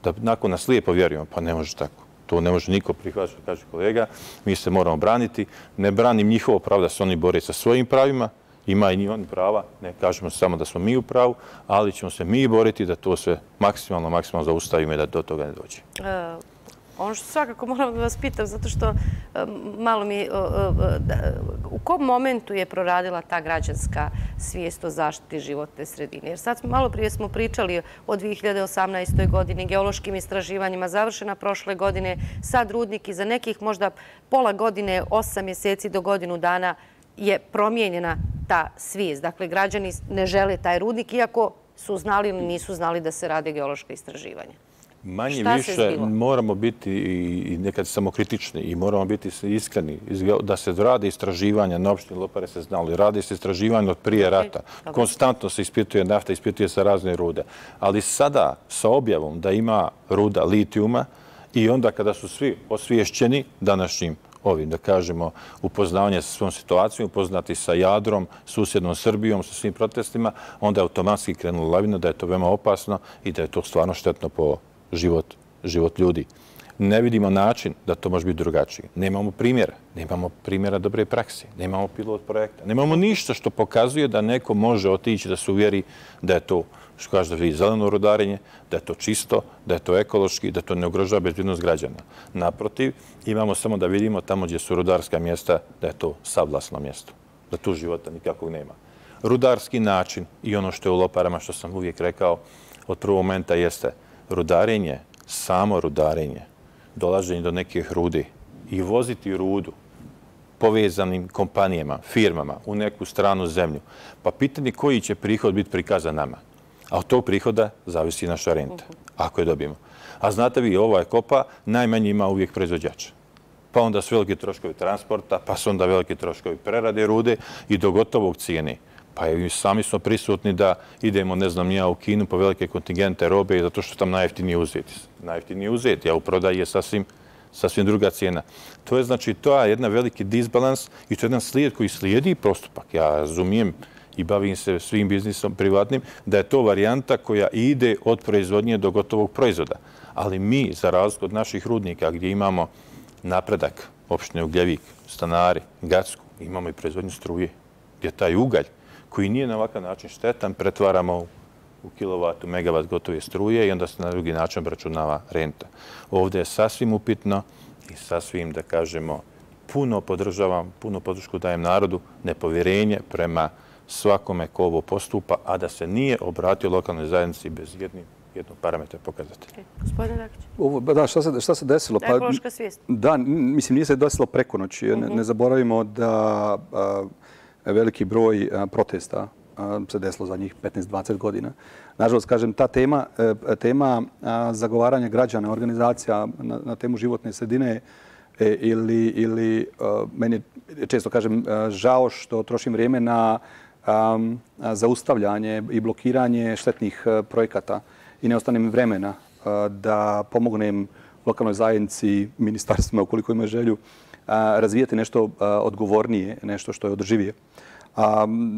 Da nakon nas lijepo vjerujemo, pa ne može tako. To ne može niko prihvatiti, kaže kolega. Mi se moramo braniti. Ne branim njihovo pravo da se oni bore sa svojim pravima. Ima i oni prava. Ne kažemo samo da smo mi u pravu, ali ćemo se mi boriti da to sve maksimalno zaustavimo i da do toga ne dođe. Ono što svakako moram da vas pitam, zato što malo mi... U kom momentu je proradila ta građanska svijest o zaštiti životne sredine? Jer sad malo prije smo pričali o 2018. godini, geološkim istraživanjima, završena prošle godine, sad rudnik i za nekih možda pola godine, 8 mjeseci do godinu dana je promijenjena ta svijest. Dakle, građani ne žele taj rudnik, iako su znali ili nisu znali da se rade geološka istraživanja. Manje više moramo biti i nekad samokritični i moramo biti iskreni da se rade istraživanja na opštini Lopare se znali. Rade se istraživanja od prije rata. Konstantno se ispituje nafta, ispituje se razne rude. Ali sada sa objavom da ima ruda litijuma i onda kada su svi osviješćeni današnjim ovim, da kažemo, upoznavanje sa svojom situacijom, upoznati sa Jadrom, susjednom Srbijom, sa svim protestima, onda je automatski krenula lavina da je to veoma opasno i da je to stvarno štetno po život ljudi. Ne vidimo način da to može biti drugačije. Nemamo primjera dobre prakse, nemamo pilot projekta, nemamo ništa što pokazuje da neko može otići da se uvjeri da je to, što kaže, da je zeleno rudarenje, da je to čisto, da je to ekološki, da to ne ugrožava bezbjednost građana. Naprotiv, imamo samo da vidimo tamo gdje su rudarska mjesta, da je to savlasno mjesto, da tu života nikakvog nema. Rudarski način i ono što je u Loparama, što sam uvijek rekao, od prvog momenta jeste rudarenje, samo rudarenje, dolaženje do nekih rudi i voziti rudu povezanim kompanijama, firmama u neku stranu zemlju. Pa pitanje koji će prihod biti prikazan nama. A od tog prihoda zavisi naša renta, ako je dobijemo. A znate vi, ova kopa najmanje ima uvijek proizvođača. Pa onda su veliki troškovi transporta, pa su onda veliki troškovi prerade rude i do gotovog cijene. Pa i sami smo prisutni da idemo, ne znam, ja u Kinu po velike kontingente robe zato što tam najjeftinije uzeti. Najjeftinije uzeti, a u prodaji je sasvim druga cijena. To je znači, to je jedna veliki disbalans i to je jedan slijed koji slijedi postupak. Ja razumijem i bavim se svim biznisom privatnim, da je to varijanta koja ide od proizvodnje do gotovog proizvoda. Ali mi, za razliku od naših rudnika gdje imamo napredak, opštine Ugljevik, Stanari, Gacku, imamo i proizvodnju struje, gdje taj ugalj koji nije na ovakav način štetan, pretvaramo u kilovat, u megavat gotove struje i onda se na drugi način obračunava renta. Ovdje je sasvim upitno i sasvim, da kažemo, puno podržavam, puno podršku dajem narodu, nepovjerenje prema svakome ko ovo postupa, a da se nije obratio lokalnoj zajednici bez jednog parametra pokazatelja. Gospodine Rakić. Da, šta se desilo? Ekološka svijest. Da, mislim, nije se desilo preko noći. Ne zaboravimo da veliki broj protesta se desilo za njih 15-20 godina. Nažalost, kažem, ta tema zagovaranja građana, organizacija na temu životne sredine ili meni često kažem žao što trošim vrijeme na zaustavljanje i blokiranje štetnih projekata i ne ostanem vremena da pomognem lokalnoj zajednici, ministarstvima, ukoliko imaju želju, razvijati nešto odgovornije, nešto što je održivije.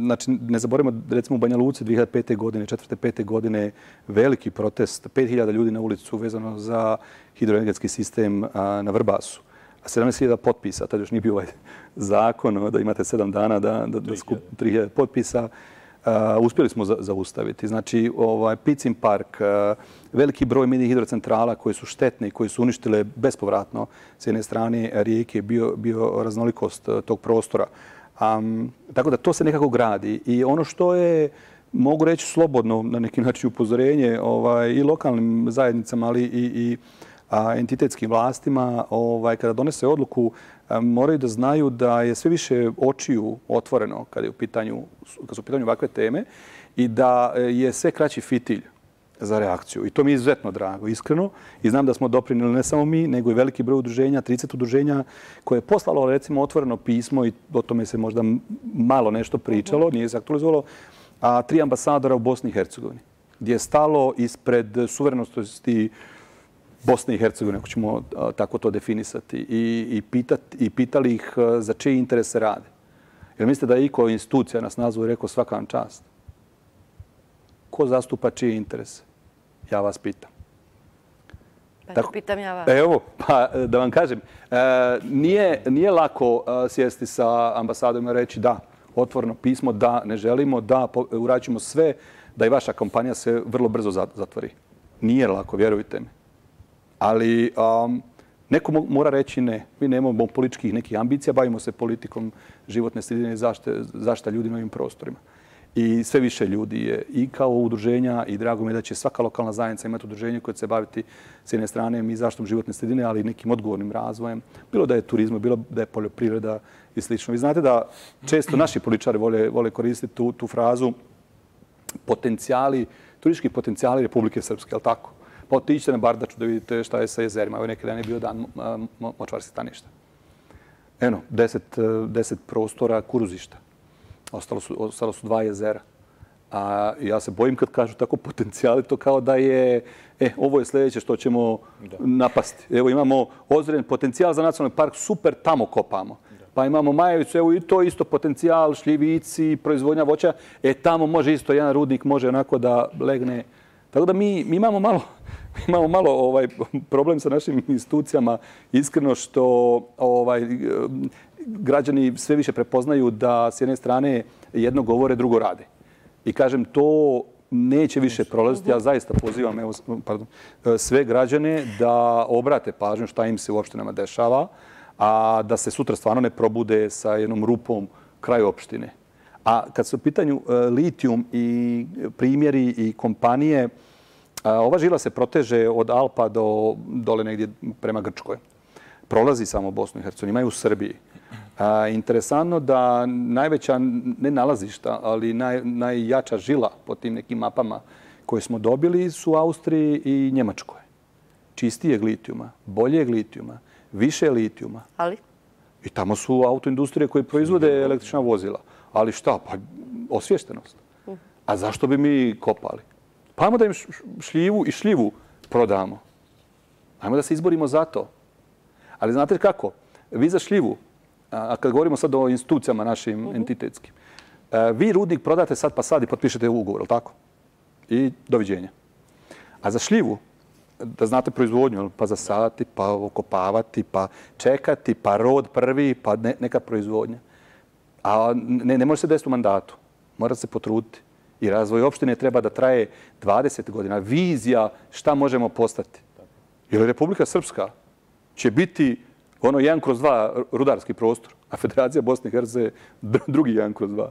Znači, ne zaboravimo, recimo u Banja Luci 2005. godine, 4. 5. godine, veliki protest, 5000 ljudi na ulicu vezano za hidroenergetski sistem na Vrbasu. 17.000 potpisa, tada još nije bio ovaj zakon da imate 7 dana da skup 3000 potpisa. uspjeli smo zaustaviti. Znači, Picin park, veliki broj mini hidrocentrala koje su štetne i koje su uništile bespovratno s jedne strane rijeke, bio raznolikost tog prostora. Tako da to se nekako gradi. I ono što je, mogu reći slobodno, na neki način upozorenje i lokalnim zajednicama, ali i entitetskim vlastima, kada donese odluku, moraju da znaju da je sve više očiju otvoreno kad su u pitanju ovakve teme i da je sve kraći fitilj za reakciju. I to mi je izuzetno drago, iskreno. I znam da smo doprinijeli ne samo mi, nego i veliki broj udruženja, 30 udruženja koje je poslalo, recimo, otvoreno pismo i o tome se možda malo nešto pričalo, nije se aktualizovalo, 3 ambasadora u Bosni i Hercegovini, gdje je stalo ispred suverenosti Bosne i Hercegovine, ako ćemo tako to definisati, i pitali ih za čije interese rade. Jer mislite da je iko institucija nas nazvao i rekao svaka vam čast? Ko zastupa čije interese? Ja vas pitam. Pa pitam ja vas. Evo, pa da vam kažem, nije lako sjesti sa ambasadom i reći da, otvoreno pismo, da, ne želimo, da, uradit ćemo sve da i vaša kompanija se vrlo brzo zatvori. Nije lako, vjerujte mi. Ali neko mora reći ne. Mi nemamo političkih nekih ambicija, bavimo se politikom životne sredine i zaštita ljudi na ovim prostorima. I sve više ljudi je i kao udruženja i drago mi je da će svaka lokalna zajednica imati udruženje koje će se baviti s jedne strane i zaštitom životne sredine, ali i nekim odgovornim razvojem. Bilo da je turizam, bilo da je poljoprivreda i slično. Vi znate da često naši političari vole koristiti tu frazu turistički potencijali Republike Srpske, je li tako? Pa otiđite na Bardaču da vidite šta je sa jezerima. Evo neki dan je bio dan močvarskih staništa. Eno, 10 prostora kuruzišta. Ostalo su 2 jezera. A ja se bojim kad kažu tako potencijali, to kao da je, ovo je sljedeće što ćemo napasti. Evo imamo ozren potencijal za nacionalni park, super, tamo kopamo. Pa imamo Majevicu, evo i to isto potencijal, šljivici, proizvodnja voća. Tamo može isto, jedan rudnik može onako da legne. Tako da mi imamo malo problem sa našim institucijama, iskreno što građani sve više prepoznaju da s jedne strane jedno govore, drugo rade. I kažem, to neće više prolaziti. Ja zaista pozivam sve građane da obrate pažnju šta im se u opštinama dešava, a da se sutra stvarno ne probude sa jednom rupom kraj opštine. A kad su u pitanju litijum i primjeri i kompanije, ova žila se proteže od Alpa do dole negdje prema Grčkoj. Prolazi samo Bosnu i Hercegovinu, ima i u Srbiji. Interesantno da najveća, ne nalazišta, ali najjača žila po tim nekim mapama koje smo dobili su u Austriji i Njemačkoj. Čistijeg litijuma, boljeg litijuma, više litijuma. Ali? I tamo su autoindustrije koje proizvode električna vozila. Ali šta? Pa osviještenost. A zašto bi mi kopali? Pa ajmo da im šljivu i šljivu prodamo. Ajmo da se izborimo za to. Ali znate kako? Vi za šljivu, a kad govorimo sad o institucijama našim entitetskim, vi rudnik prodate sad pa sad i potpišete ugovor, je li tako? I doviđenja. A za šljivu, da znate proizvodnju, pa zasaditi, pa okopavati, pa čekati, pa rod prvi, pa neka proizvodnja. A ne može se desiti u mandatu. Mora se potruditi. I razvoj opštine treba da traje 20 godina. Vizija šta možemo postati. Jer Republika Srpska će biti ono 1/2 rudarski prostor, a Federacija Bosne i Hercegovine drugi 1/2.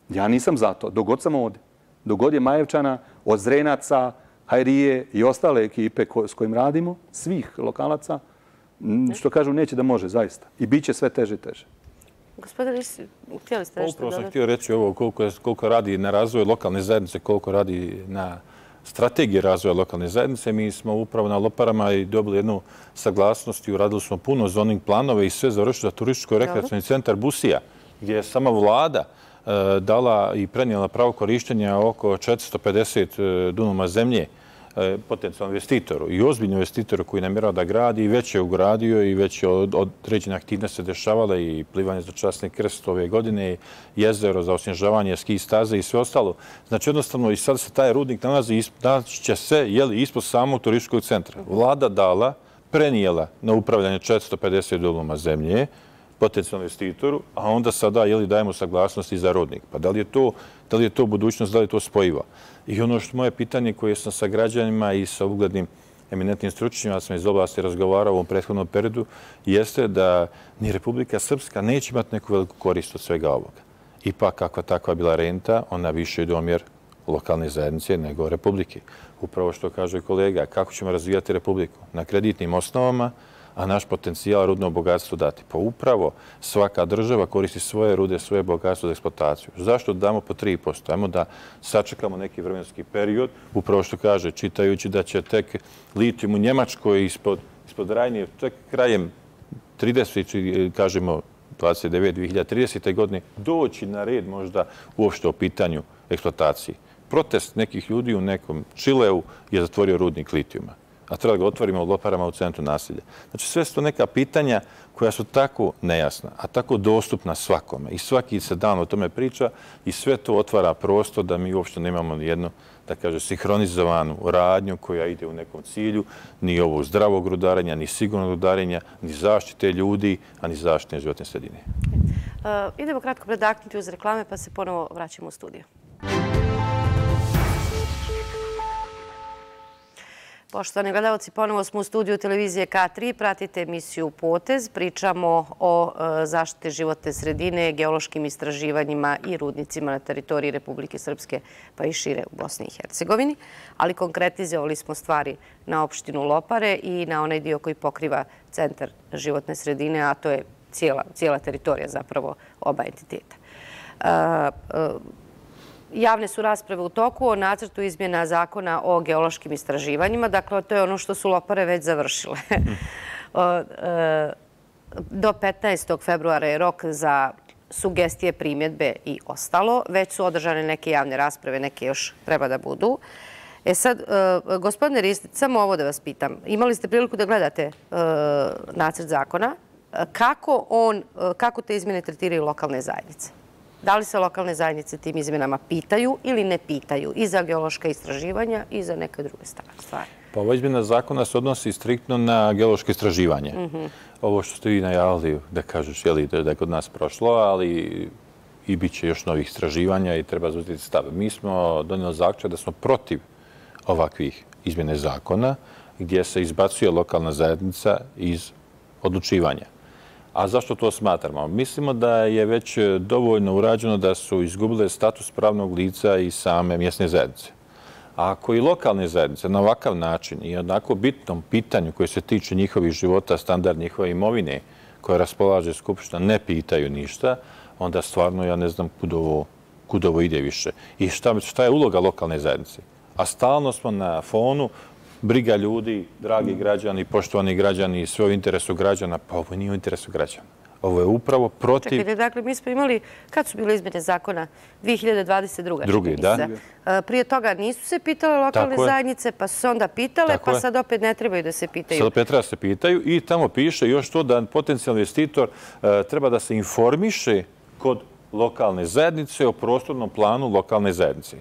Ja nisam za to. Dogod sam ovdje. Dogod je Majevčana, od Zrenaca, Hajrije i ostale ekipe s kojim radimo, svih lokalaca, što kažu neće da može, zaista. I bit će sve teže i teže. Gospodine, htjeli ste nešto dodati? Upravo sam htio reći ovo koliko radi na razvoju lokalne zajednice, koliko radi na strategiji razvoja lokalne zajednice. Mi smo upravo na Loparama i dobili jednu saglasnost i uradili smo puno zoning planove i sve završili za turističko-rekreacioni centar Busija, gdje je sama vlada dala i prenijela pravo korištenja oko 450 dunuma zemlje potencijalnom investitoru i ozbiljnom investitoru koji namjerava da gradi i već je ugradio i već je određene aktivnosti se dešavale i plivanje za časni krst ove godine, jezero za osnježavanje, ski staze i sve ostalo. Znači jednostavno i sad se taj rudnik nalazi će se ispod samog turističkog centra. Vlada dala, prenijela na upravljanje 450 dunuma zemlje. potencijalnom investitoru, a onda sada dajemo saglasnost i za rodnik. Pa da li je to budućnost, da li je to spojivo? I ono što moje pitanje koje sam sa građanima i sa uglednim eminentnim stručnjacima sam iz oblasti razgovarao u ovom prethodnom periodu, jeste da ni Republika Srpska neće imati neku veliku korist od svega ovoga. Ipak, kakva takva bila renta, ona više ide omjer lokalne zajednice nego Republike. Upravo što kaže kolega, kako ćemo razvijati Republiku? Na kreditnim osnovama, a naš potencijal rudno bogatstvo dati. Pa upravo svaka država koristi svoje rude, svoje bogatstvo za eksploataciju. Zašto damo po 3%? Ajmo da sačekamo neki vremenski period, upravo što kaže, čitajući da će tek litijum u Njemačkoj ispod Rajne, tek krajem 30, kažemo 2030. godine, doći na red možda uopšte o pitanju eksploatacije. Protest nekih ljudi u nekom Čileu je zatvorio rudnik litijuma, a treba ga otvorimo u Loparama u centru naselja. Znači, sve su to neka pitanja koja su tako nejasna, a tako dostupna svakome. I svaki se dan o tome priča i sve to otvara prostor da mi uopšte nemamo nijednu, da kaže, sinhronizovanu radnju koja ide u nekom cilju, ni ovog zdravog rudarenja, ni sigurnog rudarenja, ni zaštite ljudi, a ni zaštite životne sredine. Idemo kratko predaknuti uz reklame, pa se ponovo vraćamo u studiju. Poštovani gledalci, ponovo smo u studiju televizije K3. Pratite emisiju Potez. Pričamo o zaštiti životne sredine, geološkim istraživanjima i rudnicima na teritoriji Republike Srpske, pa i šire u Bosni i Hercegovini. Ali konkretizovali smo stvari na opštinu Lopare i na onaj dio koji pokriva centar životne sredine, a to je cijela teritorija zapravo oba entiteta. Javne su rasprave u toku o nacrtu izmjena zakona o geološkim istraživanjima. Dakle, to je ono što su Lopare već završile. Do 15. februara je rok za sugestije, primjedbe i ostalo. Već su održane neke javne rasprave, neke još treba da budu. Sad, gospodine Ristić, samo ovo da vas pitam. Imali ste priliku da gledate nacrt zakona. Kako te izmjene tretiraju lokalne zajednice? Da li se lokalne zajednice tim izmjenama pitaju ili ne pitaju i za geološka istraživanja i za neke druge stvari? Pa ova izmjena zakona se odnosi striktno na geološke istraživanje. Ovo što ste vi najavili, da kažeš, da je kod nas prošlo, ali i bit će još novih istraživanja i treba zauzeti stav. Mi smo donijeli zaključak da smo protiv ovakvih izmjene zakona gdje se izbacuje lokalna zajednica iz odlučivanja. A zašto to smatramo? Mislimo da je već dovoljno urađeno da su izgubile status pravnog lica i same mjesne zajednice. A ako i lokalne zajednice na ovakav način i onako bitnom pitanju koje se tiče njihovih života, standard njihove imovine koje raspolaže Skupština, ne pitaju ništa, onda stvarno ja ne znam kud ovo ide više. I šta je uloga lokalne zajednice? A stalno smo na fonu briga ljudi, dragi građani, poštovani građani, sve u interesu građana, pa ovo nije u interesu građana. Ovo je upravo protiv... Čekajte, dakle, mi smo imali, kad su bile izmjene zakona? 2022. Drugi, da. Prije toga nisu se pitale lokalne zajednice, pa su se onda pitale, pa sad opet ne trebaju da se pitaju. Sad opet treba da se pitaju i tamo piše još to da potencijalni investitor treba da se informiše kod lokalne zajednice o prostornom planu lokalne zajednice.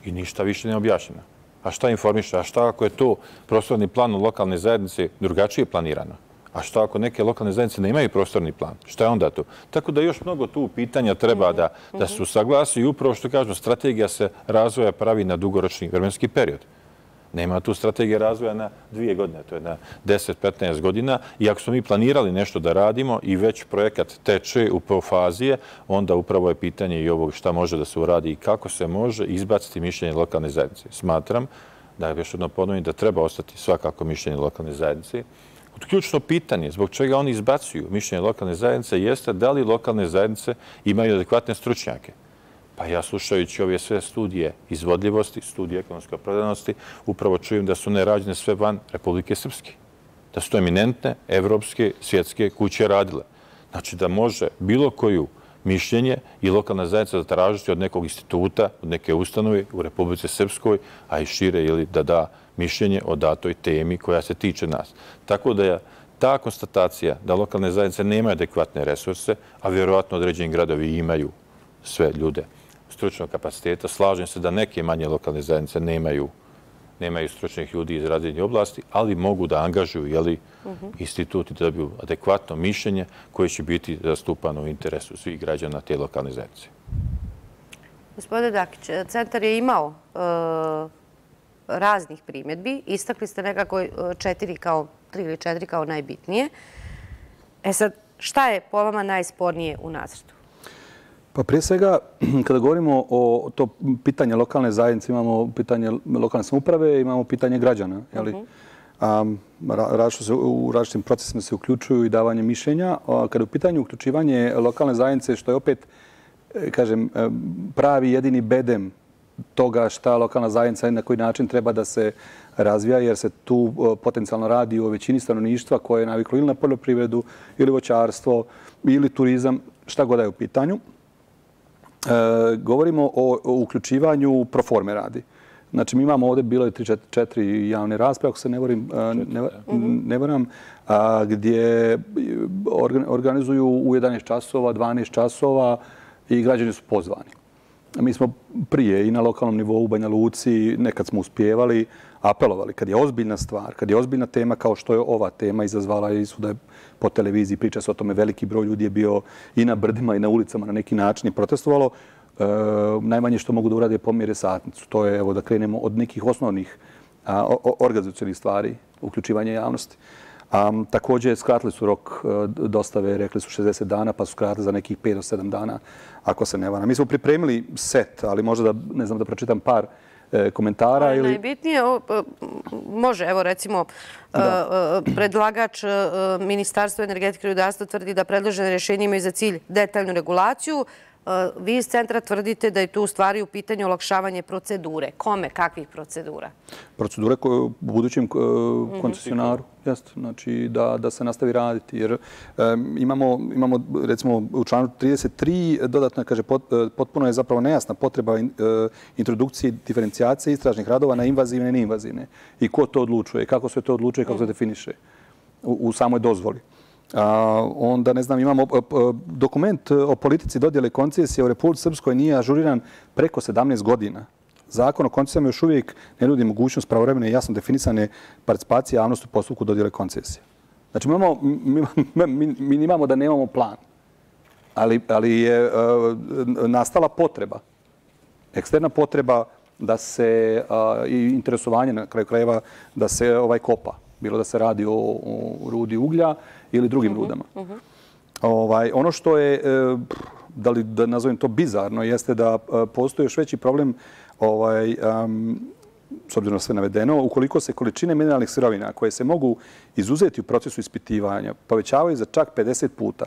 I ništa više ne objašnjeno. A šta informiše? A šta ako je to prostorni plan u lokalne zajednice drugačije planirano? A šta ako neke lokalne zajednice ne imaju prostorni plan? Šta je onda to? Tako da još mnogo tu pitanja treba da se usaglasi i upravo što kažemo, strategija se razvoja pravi na dugoročni vremenski period. Nema tu strategije razvoja na 2 godine, to je na 10-15 godina. I ako smo mi planirali nešto da radimo i već projekat teče u fazije, onda upravo je pitanje i ovog šta može da se uradi i kako se može izbaciti mišljenje lokalne zajednice. Smatram, da još jedno ponovim, da treba ostati svakako mišljenje lokalne zajednice. Ključno pitanje zbog čega oni izbacuju mišljenje lokalne zajednice jeste da li lokalne zajednice imaju adekvatne stručnjake. Pa ja slušajući ove sve studije izvodljivosti, studije ekonomske opravdanosti, upravo čujem da su one rađene sve van Republike Srpske. Da su to eminentne, evropske, svjetske kuće radile. Znači da može bilo koju mišljenje i lokalna zajednica zatražiti od nekog instituta, od neke ustanove u Republike Srpskoj, a i šire ili da da mišljenje o datoj temi koja se tiče nas. Tako da je ta konstatacija da lokalne zajednice nemaju adekvatne resurse, a vjerovatno određeni gradovi imaju sve ljude stručnog kapaciteta, slažem se da neke manje lokalne zajednice nemaju nemaju stručnih ljudi iz različitih oblasti, ali mogu da angažuju instituti da dobiju adekvatno mišljenje koje će biti zastupano u interesu svih građana te lokalne zajednice. Gospodine Dakić, centar je imao raznih primjedbi. Istakli ste nekako 3 ili 4 kao najbitnije. E sad, šta je po vama najspornije u nacrtu? Pa prije svega, kada govorimo o to pitanje lokalne zajednice, imamo pitanje lokalne samouprave, imamo pitanje građana. U različitim procesima se uključuju i davanje mišljenja. Kada je u pitanju uključivanje lokalne zajednice, što je opet, kažem, pravi jedini bedem toga šta lokalna zajednica i na koji način treba da se razvija, jer se tu potencijalno radi o većini stanovništva koje je naviklo ili na poljoprivredu, ili voćarstvo, ili turizam, šta god je u pitanju. Govorimo o uključivanju pro forme radi. Znači, mi imamo ovdje, bilo je 3-4 javne rasprave, ako se ne varam, gdje organizuju u 11 časova, 12 časova i građani su pozvani. Mi smo prije i na lokalnom nivou u Banja Luci, nekad smo uspijevali, apelovali. Kad je ozbiljna stvar, kad je ozbiljna tema kao što je ova tema izazvala i svuda po televiziji, priča se o tome, veliki broj ljudi je bio i na brdima i na ulicama na neki način i protestovalo. Najmanje što mogu da urade je pomjere satnicu. To je, evo, da krenemo od nekih osnovnih organizacionih stvari, uključivanje javnosti. Također, skratili su rok dostave, rekli su 60 dana, pa su skratili za nekih 5 do 7 dana, ako se ne varam. Mi smo pripremili set, ali možda da pročitam par komentara. Najbitnije, može, evo recimo, predlagač Ministarstva energetike i rudarstva tvrdi da predložene rješenje imaju za cilj detaljnu regulaciju. Vi iz centra tvrdite da je tu u stvari u pitanju olakšavanje procedure. Kome? Kakvih procedura? Procedure u budućem koncesionaru. Znači da se nastavi raditi. Jer imamo, recimo, u članu 33 dodatno kaže potpuno je zapravo nejasna potreba introdukcije diferencijacije istražnih radova na invazivne i neinvazivne. I ko to odlučuje, kako se to odlučuje, kako se definiše u samoj dozvoli. Onda, ne znam, imamo dokument o politici dodjele koncesije u Republici Srpskoj nije ažuriran preko 17 godina. Zakon o koncesijama još uvijek ne nudi mogućnost pravovremene i jasno definisane participacije javnosti u postupku dodjele koncesije. Znači, mi imamo da nemamo plan, ali je nastala potreba, eksterna potreba da se i interesovanje na kraju krajeva da se kopa. Bilo da se radi o rudi uglja ili drugim rudama. Ono što je, da nazovem to bizarno, jeste da postoji još veći problem, s obzirom na sve navedeno, ukoliko se količine mineralnih sirovina koje se mogu izuzeti u procesu ispitivanja povećavaju za čak 50 puta,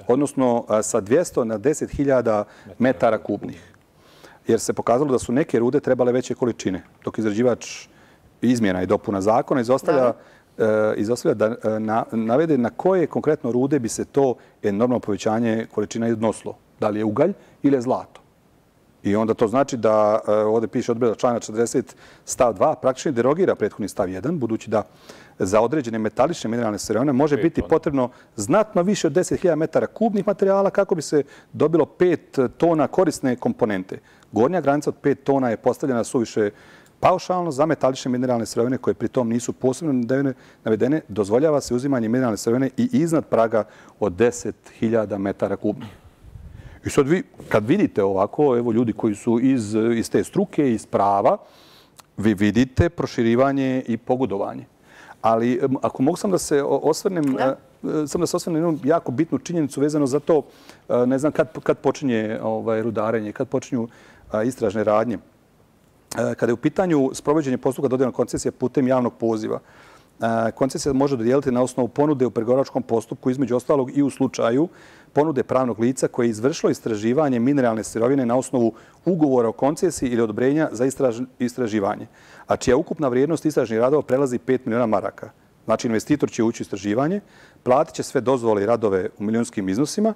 odnosno sa 200 na 10.000 metara kubnih. Jer se pokazalo da su neke rude trebale veće količine, dok izrađivač izmjena i dopuna zakona izostavlja da navede na koje konkretno rude bi se to enormno povećanje količina odnosilo. Da li je ugalj ili je zlato. I onda to znači da ovdje piše odredba člana 40 stav 2 praktično derogira prethodni stav 1, budući da za određene metalične mineralne sirovine može biti potrebno znatno više od 10.000 metara kubnih materijala kako bi se dobilo 5 tona korisne komponente. Gornja granica od 5 tona je postavljena suviše paušalno za metalične mineralne sirovine koje pritom nisu posebno navedene, dozvoljava se uzimanje mineralne sirovine i iznad praga od 10.000 metara kubnih. I sad vi, kad vidite ovako, evo ljudi koji su iz te struke, iz prava, vi vidite proširivanje i pogodovanje. Ali ako mogu sam da se osvrnem na jednu jako bitnu činjenicu vezano za to, ne znam kad počinje rudarenje, kad počinju istražne radnje. Kada je u pitanju sprovođenje postupka dodjele koncesije putem javnog poziva, koncesija može dodijeliti na osnovu ponude u pregovaračkom postupku, između ostalog i u slučaju ponude pravnog lica koje je izvršilo istraživanje mineralne sirovine na osnovu ugovora o koncesiji ili odobrenja za istraživanje, a čija ukupna vrijednost istražnih radova prelazi 5 miliona maraka. Znači, investitor će ući u istraživanje, platit će sve dozvole i radove u milionskim iznosima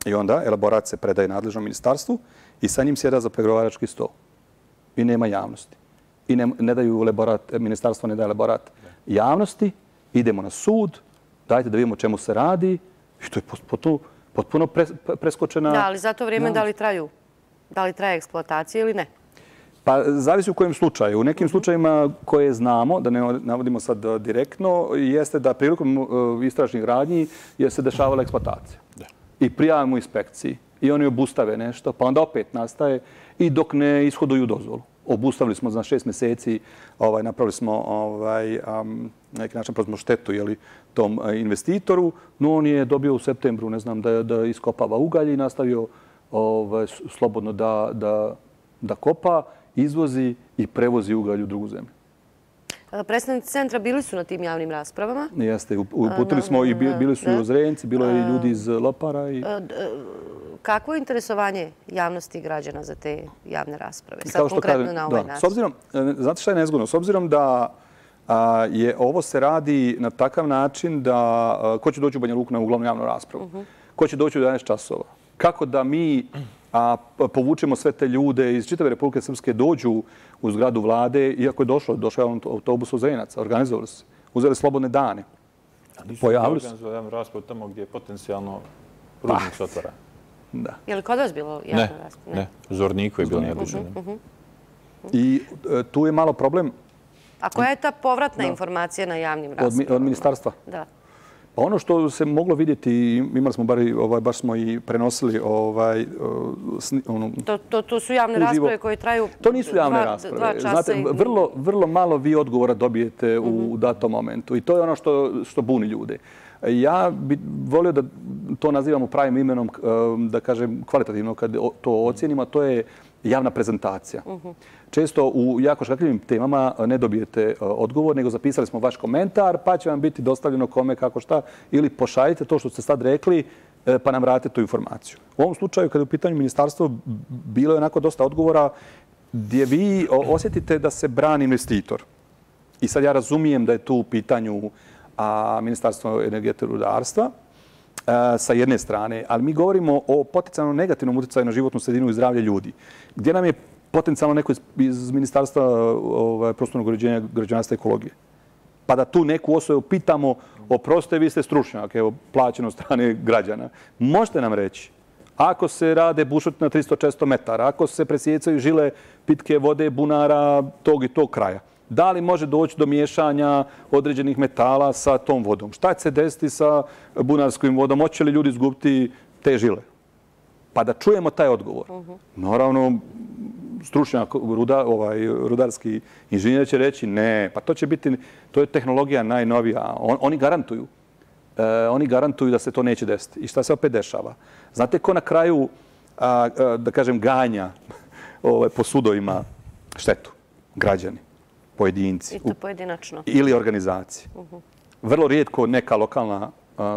i onda elaborat se predaje nadležnom ministarstvu i sa njim sjeda za pregovarački stol. I nema javnosti. I ne daju elaborat, ministarstvo ne daje elaborat javnosti, idemo na sud, dajte da vidimo čemu se radi, i to je potpuno preskočena... Da, ali za to vrijeme da li traje eksploatacija ili ne? Pa zavisi u kojem slučaju. U nekim slučajima koje znamo, da ne navodimo sad direktno, jeste da prilikom istražnih radnji se dešavala eksploatacija. I prijavimo inspekciji i oni obustave nešto, pa onda opet nastaje i dok ne ishoduju dozvolu. Obustavili smo za 6 mjeseci, napravili smo na neki način smo štetu tom investitoru, no on je dobio u septembru, ne znam, da iskopava ugalj i nastavio slobodno da kopa, izvozi i prevozi ugalj u drugu zemlju. Predstavnici centra bili su na tim javnim raspravama. Jeste, uputili smo i bili su i Ozrenci, bilo je i ljudi iz Lopara. Kakvo je interesovanje javnosti i građana za te javne rasprave? Sad konkretno na ovaj način. Znate šta je nezgodno? S obzirom da ovo se radi na takav način da ko će doći u Banja Luku na uglavnom javnu raspravu? Ko će doći u 11 časova? Kako da mi povučemo sve te ljude iz čitave Republike Srpske dođu u zgradu vlade, iako je došao je autobus Ozrenaca, organizovali se, uzeli slobodne dane. Pojavili su javnu raspravu tamo gdje je potencijalno rudnik se otvara. Je li kod vas bilo javna rasprava? Ne, u Zorniku je bilo neobično. I tu je malo problem. A koja je ta povratna informacija na javnim raspravama? Od ministarstva? Da. Ono što se moglo vidjeti, imali smo baš smo i prenosili To su javne rasprave koje traju 2 časa. To nisu javne rasprave. Znate, vrlo malo vi odgovora dobijete u datom momentu i to je ono što buni ljude. Ja bih volio da to nazivamo pravim imenom, da kažem kvalitativno kad to ocijenimo, a to je javna prezentacija. Često u jako škakljivim temama ne dobijete odgovor, nego zapisali smo vaš komentar, pa će vam biti dostavljeno kome, kako šta, ili pošaljite to što ste sad rekli, pa nam vratite tu informaciju. U ovom slučaju, kada je u pitanju ministarstvo, bilo je onako dosta odgovora gdje vi osjetite da se brani investitor. I sad ja razumijem da je tu u pitanju Ministarstvo energetike i rudarstva sa jedne strane, ali mi govorimo o potencijalno negativnom utjecaju na životnu sredinu i zdravlje ljudi. Gdje nam je potencijalno neko iz Ministarstva prostornog uređenja, građevinarstva i ekologije? Pa da tu neku osobu pitamo, oprostite, vi ste stručnjak, evo, plaćeno od strane građana. Možete nam reći, ako se rade bušotine na 300-400 metara, ako se presjecaju žile pitke vode bunara tog i tog kraja, da li može doći do miješanja određenih metala sa tom vodom? Šta će se desiti sa bunarskom vodom? Hoće li ljudi izgubiti te žile? Pa da čujemo taj odgovor. Naravno, stručnjak, rudarski inženjer će reći ne, pa to će biti, to je tehnologija najnovija. Oni garantuju da se to neće desiti. I šta se opet dešava? Znate ko na kraju, da kažem, ganja po sudovima štetu? Građani, pojedinci. I to pojedinačno. Ili organizacije. Vrlo rijetko neka lokalna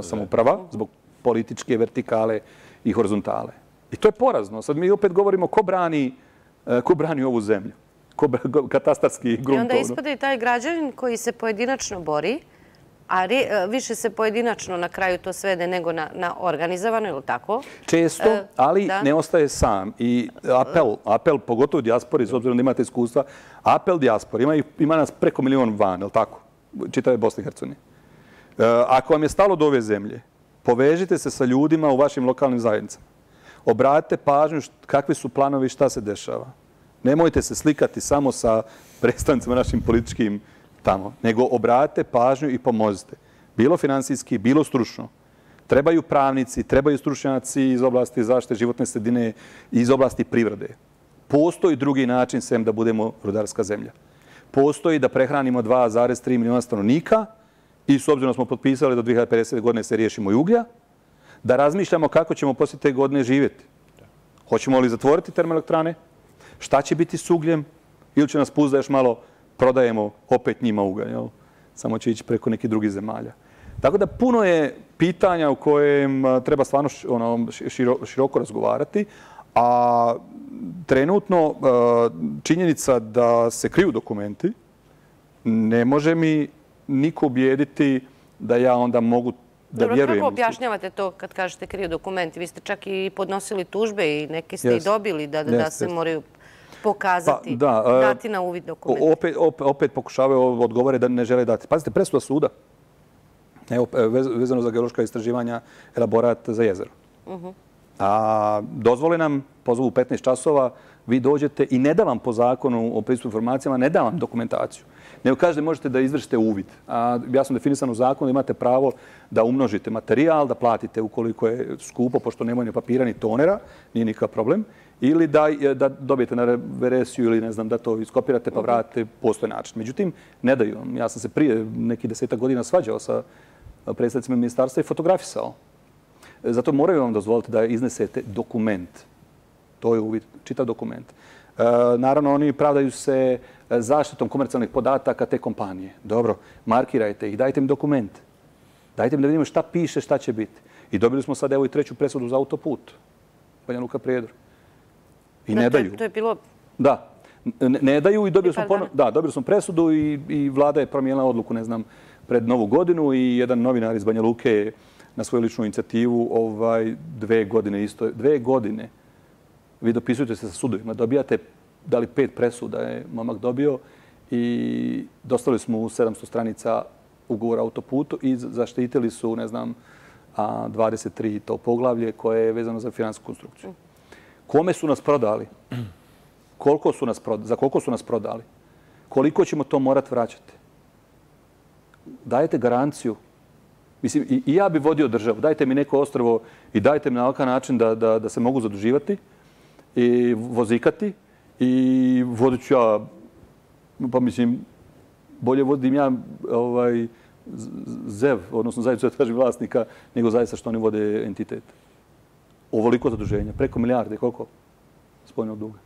samouprava zbog političke vertikale i horizontale. I to je porazno. Sad mi opet govorimo ko brani ovu zemlju. Katastarski grunt. I onda ispada i taj građanin koji se pojedinačno bori, a više se pojedinačno na kraju to svede nego na organizovano, ili tako? Često, ali ne ostaje sam. I apel, pogotovo u dijaspori, s obzirom da imate iskustva, apel dijaspori, ima nas preko 1 milion van, ili tako? Čitave Bosne i Hercegovine. Ako vam je stalo do ove zemlje, povežite se sa ljudima u vašim lokalnim zajednicama. Obratite pažnju kakvi su planovi, šta se dešava. Nemojte se slikati samo sa predstavnicima našim političkim tamo, nego obratite pažnju i pomozite. Bilo finansijski, bilo stručno. Trebaju pravnici, trebaju stručnjaci iz oblasti zaštite životne sredine i iz oblasti privrede. Postoji drugi način sem da budemo rudarska zemlja. Postoji da prehranimo 2,3 miliona stanovnika i s obzirom smo potpisali do 2050. godine se riješimo i uglja, da razmišljamo kako ćemo poslije te godine živjeti. Hoćemo li zatvoriti termoelektrane? Šta će biti s ugljem? Ili će nas pustiti da još malo prodajemo opet njima ugalj? Samo će ići preko nekih drugih zemalja. Tako da puno je pitanja u kojem treba stvarno široko razgovarati, a trenutno činjenica da se kriju dokumenti ne može mi niko ubijediti da ja onda mogu da vjerujem. Dobro, kako objašnjavate to kad kažete kriju dokumenti? Vi ste čak i podnosili tužbe i neke ste i dobili da se moraju pokazati, dati na uvid dokumenti. Opet pokušavaju odgovore da ne žele dati. Pazite, presuda suda, evo, vezano za geološka istraživanja, elaborat za jezero. Dozvole nam, pozovu 15 časova, Vi dođete i ne da vam po zakonu o pristupu informacijama, ne da vam dokumentaciju. Nego kažete možete da izvršite uvid. A jasno definisano u zakonu da imate pravo da umnožite materijal, da platite ukoliko je skupo, pošto nemaju ni papira ni tonera, nije nikakav problem, ili da dobijete na veresiju ili ne znam da to iskopirate pa vratite, postoje način. Međutim, ne daju vam. Ja sam se prije nekih 10 godina svađao sa predstavnicima ministarstva i fotografisao. Zato moraju vam dozvoliti da iznesete dokument. To je uvid, čitav dokument. Naravno, oni pravdaju se zaštitom komercijalnih podataka te kompanije. Dobro, markirajte ih, dajte mi dokument. Dajte mi da vidimo šta piše, šta će biti. I dobili smo sad evo i 3. presudu za autoput. Banja Luka Prijedor. I ne daju. To je bilo... Da. Ne daju i dobili smo presudu i vlada je promijenila odluku, ne znam, pred Novu godinu i jedan novinar iz Banja Luke je na svoju ličnu inicijativu 2 godine isto. 2 godine. Vi dopisujete se sa sudovima, dobijate da li 5 presuda je momak dobio i dostavili smo u 700 stranica ugovora o autoputu i zaštitili su, ne znam, 23 to poglavlje koje je vezano za finansijsku konstrukciju. Kome su nas prodali? Za koliko su nas prodali? Koliko ćemo to morati vraćati? Dajete garanciju. Mislim, i ja bi vodio državu. Dajte mi neko ostrvo i dajte mi na ovakav način da se mogu zaduživati i vozikati i vodit ću ja, pa mislim, bolje vodim ja ZEV, odnosno zajednicu traži vlasnika, nego zaista što oni vode entitet. Ovoliko zaduženja, preko milijarde, koliko? Spoljnog duga.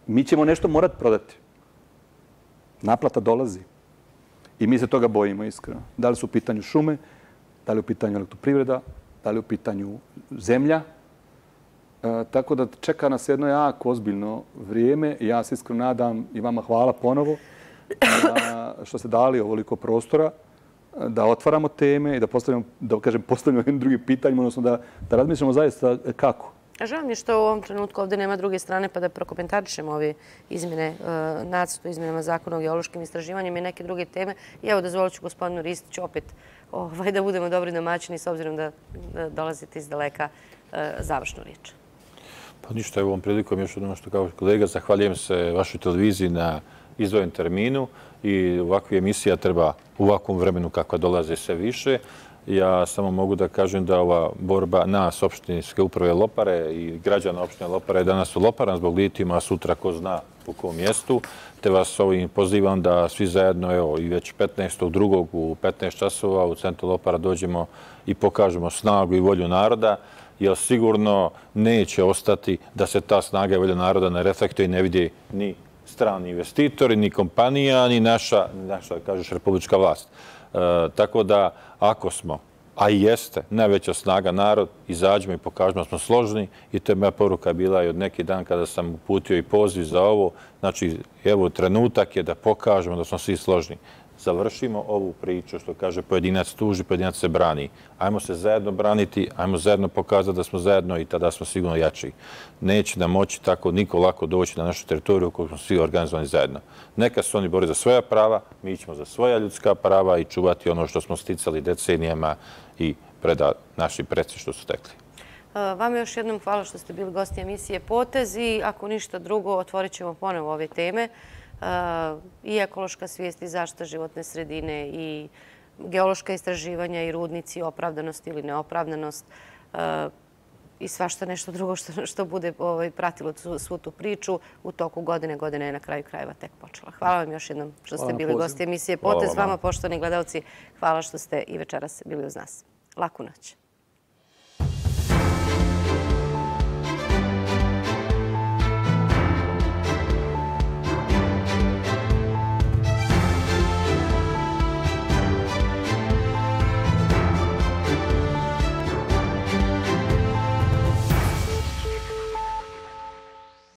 Mi ćemo nešto morati prodati. Naplata dolazi. I mi se toga bojimo, iskreno. Da li su u pitanju šume, da li u pitanju elektroprivreda, da li u pitanju zemlja. Tako da čeka nas jedno jako ozbiljno vrijeme. Ja se iskreno nadam i vama hvala ponovo što ste dali ovoliko prostora, da otvaramo teme i da postavljamo jednim drugim pitanjima, odnosno da razmišljamo zaista kako. Žao mi je što u ovom trenutku ovdje nema druge strane pa da prokomentarišemo ove izmjene, nacrtu izmjenama zakona o geološkim istraživanjima i neke druge teme. I evo, dozvolit ću gospodinu Ristiću opet da budemo dobri domaćini s obzirom da dolazite iz daleka, završnu riječ. Pa ništa, evo ovom prilikom još jednom što kao kolega, zahvaljujem se vašoj televiziji na izdvojenom terminu i ovakva emisija treba u ovakvom vremenu kakva dolaze sve više. Ja samo mogu da kažem da ova borba nas, opštinske uprave Lopare i građana opštine Lopare je danas u Loparan zbog litijuma, a sutra ko zna u kom mjestu. Te vas ovim pozivam da svi zajedno, evo, i već 15.2. u 15 časova u centru Lopara dođemo i pokažemo snagu i volju naroda, jer sigurno neće ostati da se ta snaga i volja naroda ne reflektuje i ne vidi ni strani investitori, ni kompanija, ni naša, kažeš, republička vlast. Tako da, ako smo, a i jeste, najveća snaga narod, izađemo i pokažemo da smo složni i to je moja poruka bila i od neki dan kada sam uputio i poziv za ovo. Znači, evo, trenutak je da pokažemo da smo svi složni. Završimo ovu priču, što kaže pojedinac tuži, pojedinac se brani. Ajmo se zajedno braniti, ajmo zajedno pokazati da smo zajedno i tada smo sigurno jači. Neće nam moći tako niko lako doći na našu teritoriju ukoliko smo svi organizovani zajedno. Neka se oni bori za svoja prava, mi ćemo za svoja ljudska prava i čuvati ono što smo sticali decenijama i preda naši preci što su stekli. Vama još jednom hvala što ste bili gosti emisije Potez i ako ništa drugo otvorit ćemo ponovo ove teme. I ekološka svijest i zaštita životne sredine i geološka istraživanja i rudnici, opravdanost ili neopravdanost i svašta nešto drugo što bude pratilo svu tu priču u toku godine. Godina je na kraju krajeva tek počela. Hvala vam još jednom što ste bili gosti emisije Potez. Vama, poštovani gledalci, hvala što ste i večeras bili uz nas. Laku noć.